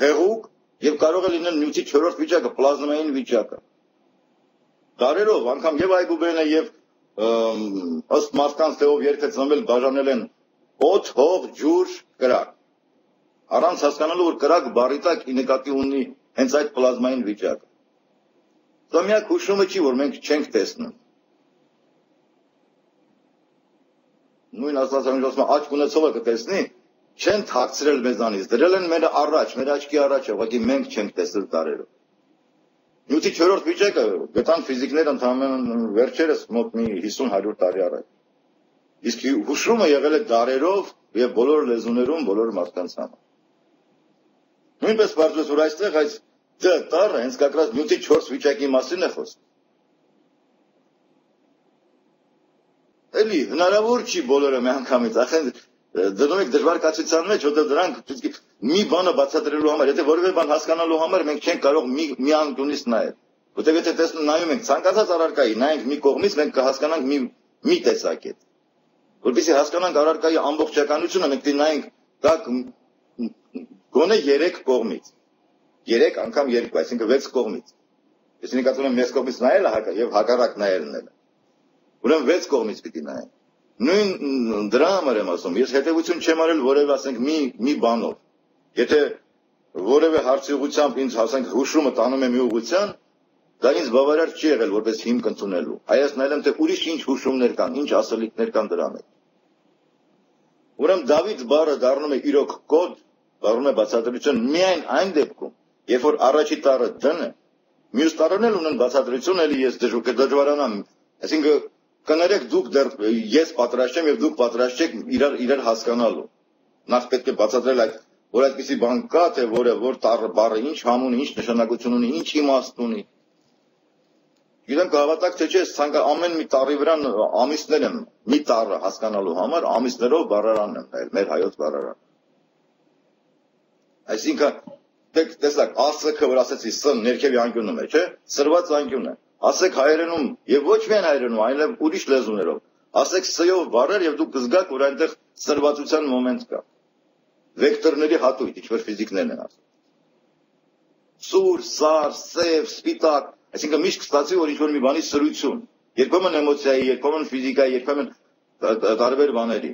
հեղուկ եւ կարող է լինել նյութի 4-րդ վիճակը, պլազմային վիճակը։ Դարերով անգամ եւ Այգուբենը եւ ըստ մարդկանց թե ով երգը ծնվել բաժանել են օդ, հող, ջուր, կրակ։ Առանց հասկանալու, որ կրակ բառի տակ նկատի ունի հենց այդ պլազմային վիճակը։ Դա միակ հուշումը չի, որ մենք չենք տեսնում։ Նույն Աստվածաշունչը ասում է, աչք ունեցողը կտեսնի, չեն թաքցրել մեզանից, դրել են մեր առաջ, մեր աչքի առաջ, ուղղակի մենք չենք տեսել տարերով։ Նյութի 4-րդ վիճակը գտան ֆիզիկները ընդհանրապես վերջերս մոտ մի 50-100 տարի առաջ։ Իսկ հուշումը եղել է դարերով եւ բոլոր լեզուներում, բոլոր մարդկանց համար։ Նույնպես բարձրացած որ այստեղ այս տառը հենց կակրած նյութի 4 վիճակի մասին է խոսում։ Էլի հնարավոր չի բոլորը միանգամից, ախեն դնում եք դժվար կացության մեջ, որտեղ դրանք մի բանը բացատրելու համար, եթե որևէ բան հասկանալու համար մենք չենք կարող մի անկյունից նայել։ Որտեղ եթե նայում ենք ցանկացած առարկայի, նայենք մի կողմից, մենք կհասկանանք մի տեսակետ։ Որպեսզի հասկանանք առարկայի ամբողջականությունը, մենք նայենք դա գոնե 3 կողմից։ 3 անգամ 2, այսինքն 6 կողմից։ Ես նկատում եմ մեծ կողմից նայելը եւ հակառակ նայելն է։ Ուրեմն 6 կողմից պիտի նայենք։ Նույն դրա համար եմ ասում, ես հետևություն չեմ արել որևէ, ասենք, մի բանով։ Եթե որևէ հարցի ուղղությամբ ինձ, ասենք, հուշումը տանում է մի ուղղության, դա ինձ բավարար չի եղել որպես հիմք ընդունելու։ Այլևս նայել եմ, թե ուրիշ ինչ հուշումներ կան, ինչ ասելիքներ կան դրա մեջ։ Ուրեմն Դավիթ բառը դառնում է իրոք կոդ, դառնում է բացատրություն միայն այն դեպքում, երբ որ առաջի տառը դն է, մյուս տառերն էլ ունեն բացատրություն, էլի ես դժվարանամ, այսինքն կներեք դուք դեռ ես պատրաստ եմ եւ դուք պատրաստ չեք իրար հասկանալու։ Նախ պետք է բացատրել այդ, որ այդպիսի բան կա, թե որ տառը բառը ինչ համ ունի, ինչ նշանակություն ունի, ինչ իմաստ ունի։ Գիտեմ կհավատաք թե չէ, ամեն մի տառի վրա ամիսներ եմ, մի տառը հասկանալու համար ամիսներով բառարան եմ նայել, մեր հայոց բառարան։ Այսինքն տեսակ, ասքը, որ ասեցի, ս ներքևի անկյունում է, չէ՞, սրված անկյուն է։ Ասեք հայերենում եւ ոչ միայն հայերենում, այլև ուրիշ լեզուներով։ ասեք S-ով բառեր եւ դուք կզգաք, որ այնտեղ սրվածության մոմենտ կա։ Վեկտորների հատույթ, ինչպես ֆիզիկներն են ասում։ Սուր, սար, սև, սպիտակ, այսինքն միշտ կստացի, որ ինչ-որ մի բանի սրություն, երբեմն էմոցիայի, երբեմն ֆիզիկայի, երբեմն տարբեր բաների։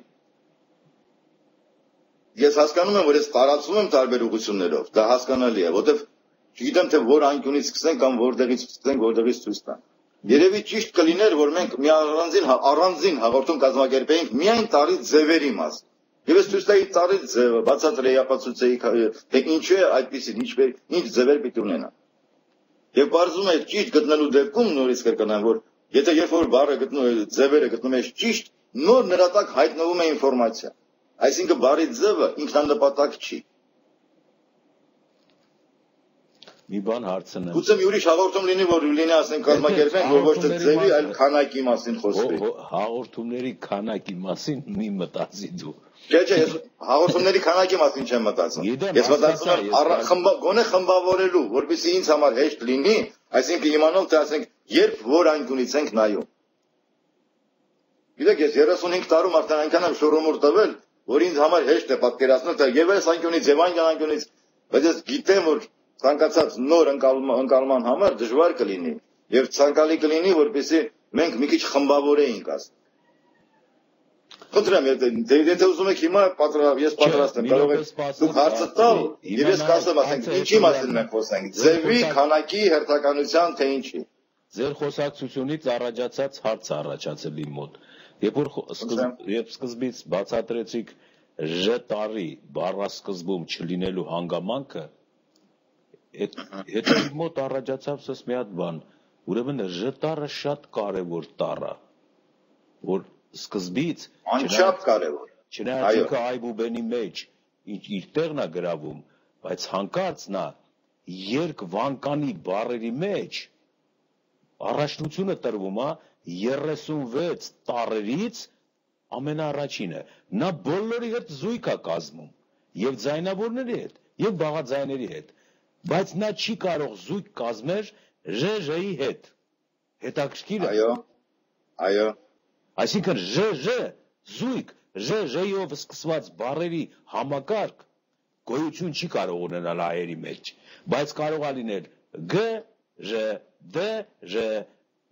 Ես հասկանում եմ, որ ես տարածում եմ տարբեր ուղղություններով, դա հասկանալի է, որտեվ չգիտեմ թե որ անկյունից սկսենք կամ որտեղից սկսենք, որտեղից ցույց տանք։ Երևի ճիշտ կլիներ, որ մենք մի առանձին հաղորդում կազմակերպեինք միայն տարի ձևերի մասին։ Եվ ես ցույց տայի տարի ձևը, բացատրեի, ապացուցեի, թե ինչու է այդպեսին, ինչ ձևեր պիտի ունենա։ Եվ բարձում է ճիշտ գտնելու դեպքում նորից կրկնեմ, որ եթե երբ որ բառը ձևերը գտնում ես ճիշտ, նոր նրա տակ հայտնվում է ինֆորմացիա։ Այսինքն բառի ձևը ինքնանպատակ չի։ Մի բան հարցնեմ։ Գուցե մի ուրիշ հաղորդում լինի, որ լինի ասենք կազմակերպենք, որ ոչ թե ձևի, այլ քանակի մասին խոսվի։ Հաղորդումների քանակի մասին մի մտածի դու։ Չէ, ես հաղորդումների քանակի մասին չեմ մտածում։ Ես մտածում եմ գոնե խմբավորելու, որպեսզի ինձ համար հեշտ լինի, այսինքն իմանալ, թե ասենք երբ որ անկյունից ենք նայում։ Գիտեք, ես 35 տարում արդեն այնքան եմ շոռոմուր տվել, որ ինձ համար հեշտ է պատկերացնել, թե եւ այս անկյունից եւ այն անկյունից, բայց ես գիտեմ, որ ցանկացած նոր ընկալման համար դժվար կլինի եւ ցանկալի կլինի, որպեսզի մենք մի քիչ խմբավորեինք ասենք։ Խնդրեմ, եթե ուզում եք հիմա ես պատրաստ եմ, կարող եք դուք հարցը տալ, եւ ես կասեմ, ասենք, ինչի մասին մենք խոսենք, ձևի, քանակի, հերթականության, թե ինչի։ Ձեր խոսակցությունից առաջացած հարց առաջացել իմ մոտ։ Երբ սկզբից բացատրեցիք Ž տարի բառասկզբում չլինելու հանգամանքը, հետո իմ մոտ առաջացավ սս մի հատ բան, ուրեմն Ž տառը շատ կարևոր տառ է, որ սկզբից անչափ կարևոր։ Չնայած ինքը այբուբենի մեջ իր տեղն է գրավում, բայց հանկարծ նա երկվանկանի բառերի մեջ առաջնությունը տրվում է 36 տառերից ամենաառաջինը։ Նա բոլորի հետ զույգ է կազմում, եւ ձայնավորների հետ, եւ բաղաձայների հետ, բայց նա չի կարող զույգ կազմել ԺԺ-ի հետ։ Հետաքրքիր է։ Այո։ Այսինքն ԺԺ զույգ ԺԺ-ով սկսված բառերի համակարգ գոյություն չի կարող ունենալ հայերի մեջ, բայց կարող է լինել G, Ž, D, Ž,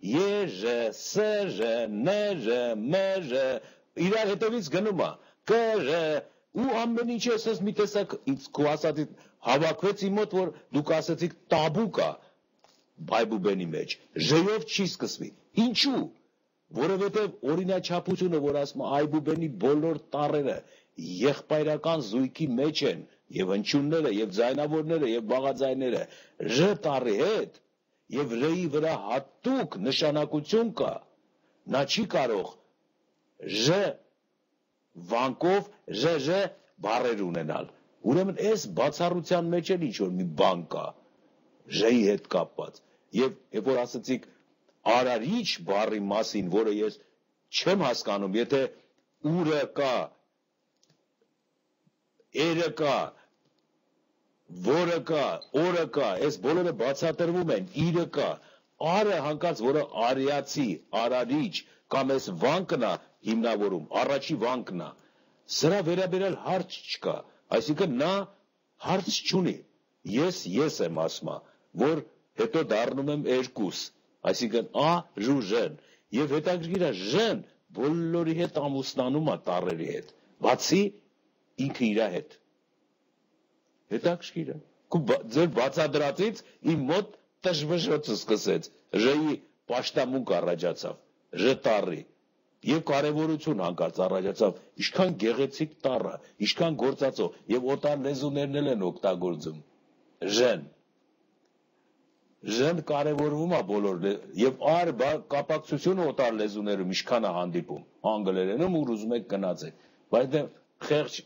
Ե, Ž, S, Ž, N, Ž, M, Ž, իրար հետևից գնում է K, Ž, ու ամեն ինչ էսես մի տեսակ քո ասածից հավաքվեց իմ մոտ, որ դուք ասացիք տաբու կա բայբուբենի մեջ, Ž-ով չի սկսվի։ Ինչու՞։ Որովհետև օրինաչափությունը, որ ասում է այբուբենի բոլոր տառերը եղբայրական զույգի մեջ են, եւ հնչյունները, եւ ձայնավորները, եւ բաղաձայները Ž տառի հետ, եւ Ր-ի վրա հատուկ նշանակություն կա, նա չի կարող Ž վանկով ԺԺ բառեր ունենալ։ Ուրեմն այս բացառության մեջ էլ ինչ որ մի բան կա Ž-ի հետ կապված։ Եվ երբ որ ասացիք արարիչ բառի մասին, որը ես չեմ հասկանում, եթե ուրը կա, էրը կա, որը կա, օրը կա, այս բոլորը բացատրվում են, իրը կա, արը հանկարծ, որը արիացի, արարիչ, կամ այս վանկն է հիմնավորում, առաջի վանկն է, սրա վերաբերել հարց չկա, այսինքն նա հարց չունի, ես եմ ասում, որ հետո դառնում եմ երկուս, այսինքն ա, ժու, ժեն, եւ հետաքրքիր է ժեն բոլորի հետ ամուսնանում է տառերի հետ, բացի ինքը իր հետ։ Հետաքրքիր է։ Ձեր բացադրածից իմ մոտ տժվժոցը սկսեց, Ž-ի պաշտամունք առաջացավ, Ž տառի, եւ կարեւորություն հանկարծ առաջացավ, ինչքան գեղեցիկ տառը, ինչքան գործածող, եւ օտար լեզուներն էլ են օգտագործում, Ž-ն։ Ž-ն կարևորվում է բոլոր եւ առ կապակցությունը օտար լեզուներում ինչքան է հանդիպում, անգլերենում ու ուզում եք գնացեք, բայց դե խեղճ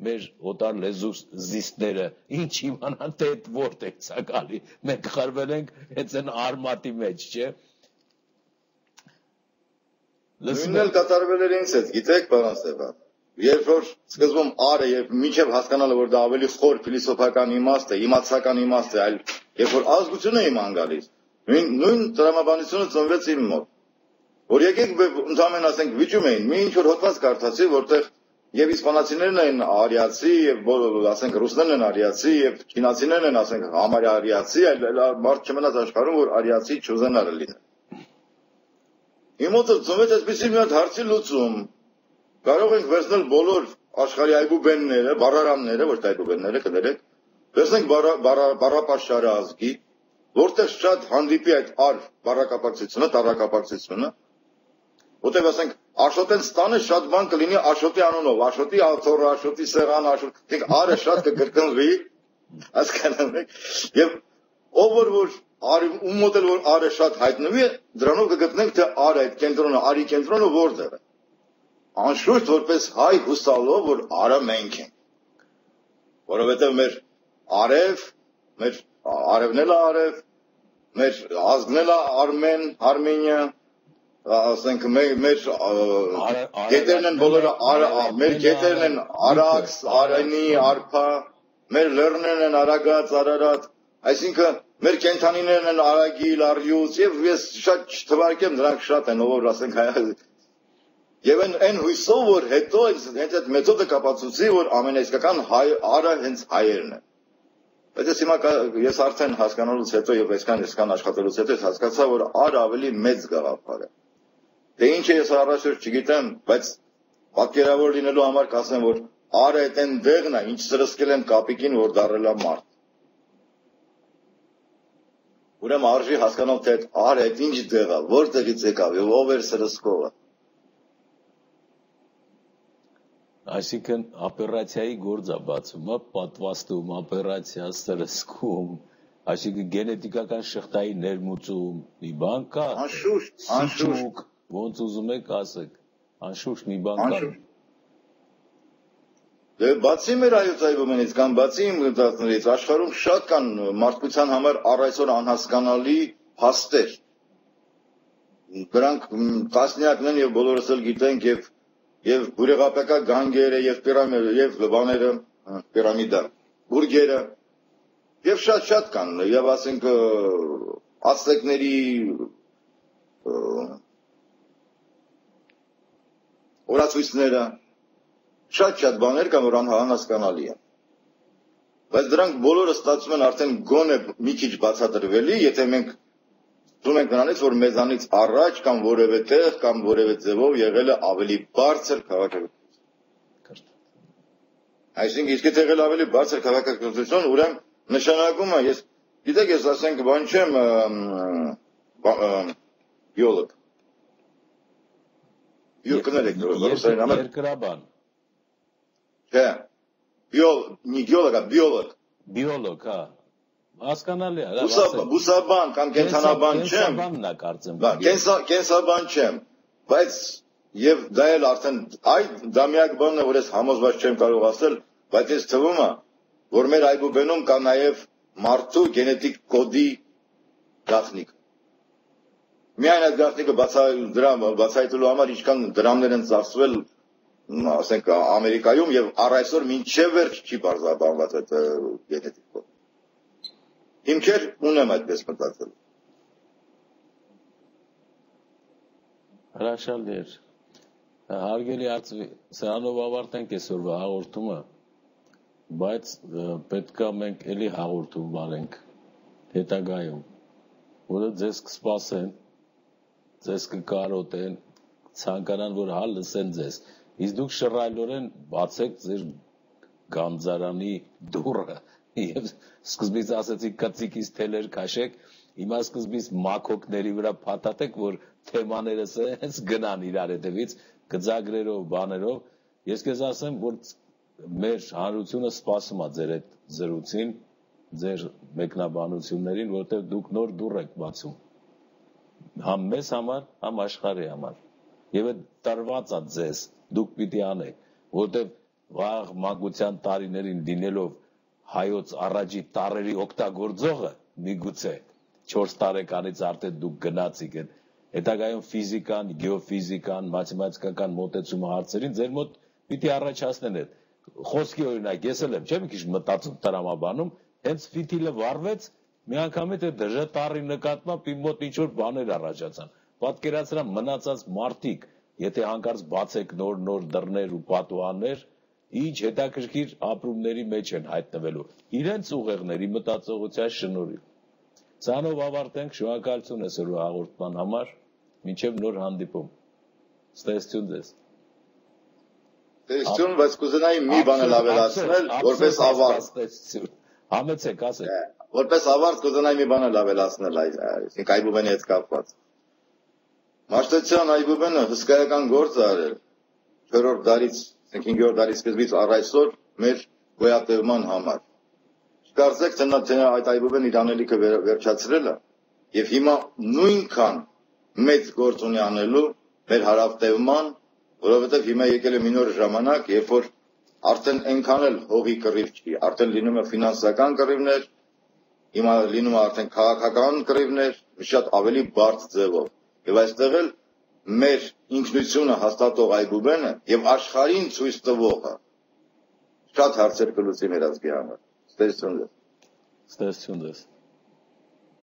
մեր օտար լեզու զիստները ինչ իմանան թե այդ որտեղ է գալի, մենք խրվել ենք հենց այն արմատի մեջ, չէ՞։ Նույնն էլ կատարվել էր ինձ հետ, գիտեք, պարոն Ստեփան, երբ որ սկզբում արը եւ մինչեւ հասկանալը, որ դա ավելի խոր փիլիսոփական իմաստ է, իմացական իմաստ է, այլ երբ որ ազգությունը իման գալիս, նույն տրամաբանությունը ծնվեց իմ մոտ։ որ եկեք ընդհանրապես ասենք վիճում էին, մի ինչ որ հոդված կարդացի, որտեղ եւ իսպանացիներն են արիացի, եւ ասենք ռուսներն են արիացի, եւ չինացիներն են ասենք համարյա արիացի, այլ մարդ չմնաց աշխարհում, որ արիացի չուզենալը լինի։ Իմոց ծնվեց այսպեսի մի հատ հարցի լուծում։ Կարող ենք վերցնել բոլոր աշխարհի այբուբենները, բառարանները, ոչ թե այբուբենները, կներեք, վերցնենք բառապաշարը ազգի, որտեղ շատ հանդիպի այդ բառակապակցությունը, տառակապակցությունը, որտեղ ասենք Աշոտեն ստանը շատ բան կլինի Աշոտի անունով, Աշոտի աթոռ, Աշոտի սեղան, Աշոտի, արը շատ կկրկնվի, հասկանալ եք, եւ ով որ ում մոտ էլ որ արը շատ հայտնվի, դրանով կգտնենք թե արը այդ կենտրոնը, արի կենտրոնը որտեղ է։ Անշուշտ որպես հայ հուսալով, որ արը մենք ենք, որովհետեւ մեր արև, մեր արևն էլ արև, մեր ազգն էլ արմեն, Արմենիա, ասենք մեր գետերն են բոլորը մեր գետերն են Արաքս, Արենի, Արփա, մեր լեռներն են Արագած, Արարատ, այսինքն մեր կենթանիներն են Արագիլ, Արյուս եւ ես շատ չթվարկեմ դրանք շատ են ով ասենք եւ այն հույսով որ հետո հենց այդ մեթոդը կապացուցի որ ամենաիսկական արը հենց հայերն են։ Բայց հիմա ես արդեն հասկանալուց հետո եւ այսքան աշխատելուց հետո հասկացա որ արը ավելի մեծ գաղափար է։ Դե ինչ է ես առաջ չգիտեմ, բայց պատկերավոր լինելու համար կասեմ, որ արը այդ են դեղն է, ինչ սրսկել եմ կապիկին, որ դարել է մարդ։ Ուրեմն արժի հասկանալ, թե այդ արը այդ ինչ դեղ է, որտեղից եկավ եւ ով էր սրսկողը։ Այսինքն օպերացիայի գործ է բացում, պատվաստում, օպերացիա, սրսկում, այսինքն գենետիկական շղթայի ներմուծում, մի բան կա։ Անշուշտ ոնց ուզում եք ասեք, անշուշտ մի բան կա։ Դե բացի մեր այոց այբուբենից կամ բացի իմ դասներից աշխարհում շատ կան մարդկության համար առ այսօր անհասկանալի փաստեր։ Դրանք տասնյակն են եւ բոլորս էլ գիտենք եւ բուրեղապետական գանգերը եւ պիրամիդը եւ բաները, պիրամիդա, բուրգերը եւ շատ կան եւ ասենք ասեկների օրացույցները շատ բաներ կան որ անհասկանալի են բայց դրանք բոլորը ստացվում են արդեն գոնե մի քիչ բացատրվելի եթե մենք դու ենք նրանից որ մեզանից առաջ կամ որևէ տեղ կամ որևէ ձևով եղել է ավելի բարձր քաղաքականություն այսինքն իսկ եթե եղել ավելի բարձր քաղաքականություն ուրեմն նշանակում է ես գիտեք ես ասենք բան չեմ բիոլոգ Երկրաբան Չէ, բիոլոգ, հա, հասկանալի է, բուսաբան կամ կենսաբան չեմ, կենսաբան չեմ, բայց եւ դա էլ արդեն դա միակ բանն է, որ ես համոզված չեմ կարող ասել, բայց ես թվում է, որ մեր այբուբենում կա նաեւ մարդու գենետիկ կոդի գաղտնիք։ Միայն այդ գաղտնիքը բացահայտելու համար ինչքան դրամներ են ծախսվել ասենք Ամերիկայում եւ առ այսօր մինչեւ վերջ չի բարձրաբանված այդ գենետիկ կոդը։ Հիմքեր ունեմ այդպես մտածել։ Հրաշալի էր։ Հարգելի արծվի, սրանով ավարտենք այսօրվա հաղորդումը, բայց պետք է մենք էլի հաղորդում անենք հետագայում, որը ձեզ կսպասեն, ձեզ կկարոտեն, ցանկանան, որ հա լսեն ձեզ։ Իսկ դուք շռայլորեն բացեք ձեր գանձարանի դուռը եւ սկզբից ասեցիք կծիկից թելեր քաշեք, հիմա սկզբից մակոկների վրա փաթաթեք, որ թեմաներս հենց գնան իրար հետևից, գծագրերով, բաներով։ Ես քեզ ասեմ, որ մեր հանրությունը սպասում է ձեր այդ զրույցին, ձեր մեկնաբանություններին, որտեղ դուք նոր դուռ եք բացում։ Համ մեզ համար, համ աշխարհի համար։ Եվ այդ տրված է ձեզ դուք պիտի անեք, որտեղ վաղ մանկության տարիներին դինելով հայոց առաջի տարերի օգտագործողը միգուցե 4 տարեկանից արդեն դուք գնացիք են հետագայում ֆիզիկան, գեոֆիզիկան, մաթեմատիկական մոտեցումը հարցերին ձեր մոտ պիտի առաջացնեն այդ խոսքի օրինակ ես էլ եմ չէ՞ մի քիչ մտածում տրամաբանում հենց ֆիտիլը վառվեց մի անգամից այդ դժտարի նկատմամբ իմ մոտ ինչ որ բաներ առաջացան պատկերացրա մնացած մարդիկ, եթե հանկարծ բացեք նոր դռներ ու պատուհաններ, ինչ հետաքրքիր ապրումների մեջ են հայտնվելու իրենց ուղեղների մտածողության շնորհիվ։ Սրանով ավարտենք, շնորհակալություն այսօրվա հաղորդման համար, մինչև նոր հանդիպում։ Ստեսություն ձեզ։ Տեսություն, բայց կուզենայի մի բան ավելացնել, որպես ավարտ։ Համեցեք, ասեք։ Որպես ավարտ կուզենայի մի բան ավելացնել այսինքն Այբուբենի հետ կապված։ Մաշտոցյան Այբուբենը հսկայական գործ է արել 4-րդ դարից, 5-րդ դարի սկզբից առ այսօր մեր գոյատևման համար։ Չկարծեք, թե այդ Այբուբենը իր անելիքը վերջացրել է, եւ հիմա նույնքան մեծ գործ ունի անելու մեր հարավտևման, որովհետև հիմա եկել է մի նոր ժամանակ, երբ որ արդեն այնքան էլ հողի կռիվ չի, արդեն լինում է ֆինանսական կռիվներ, հիմա լինում է արդեն քաղաքական կռիվներ, շատ ավելի բարդ ձևով։ Եվ այստեղ էլ մեր ինքնությունը հաստատող Այբուբենը եւ աշխարհին ցույց տվողը շատ հարցեր կլուծի մեր ազգի համար։ Ստեսություն ձեզ։ Ստեսություն ձեզ։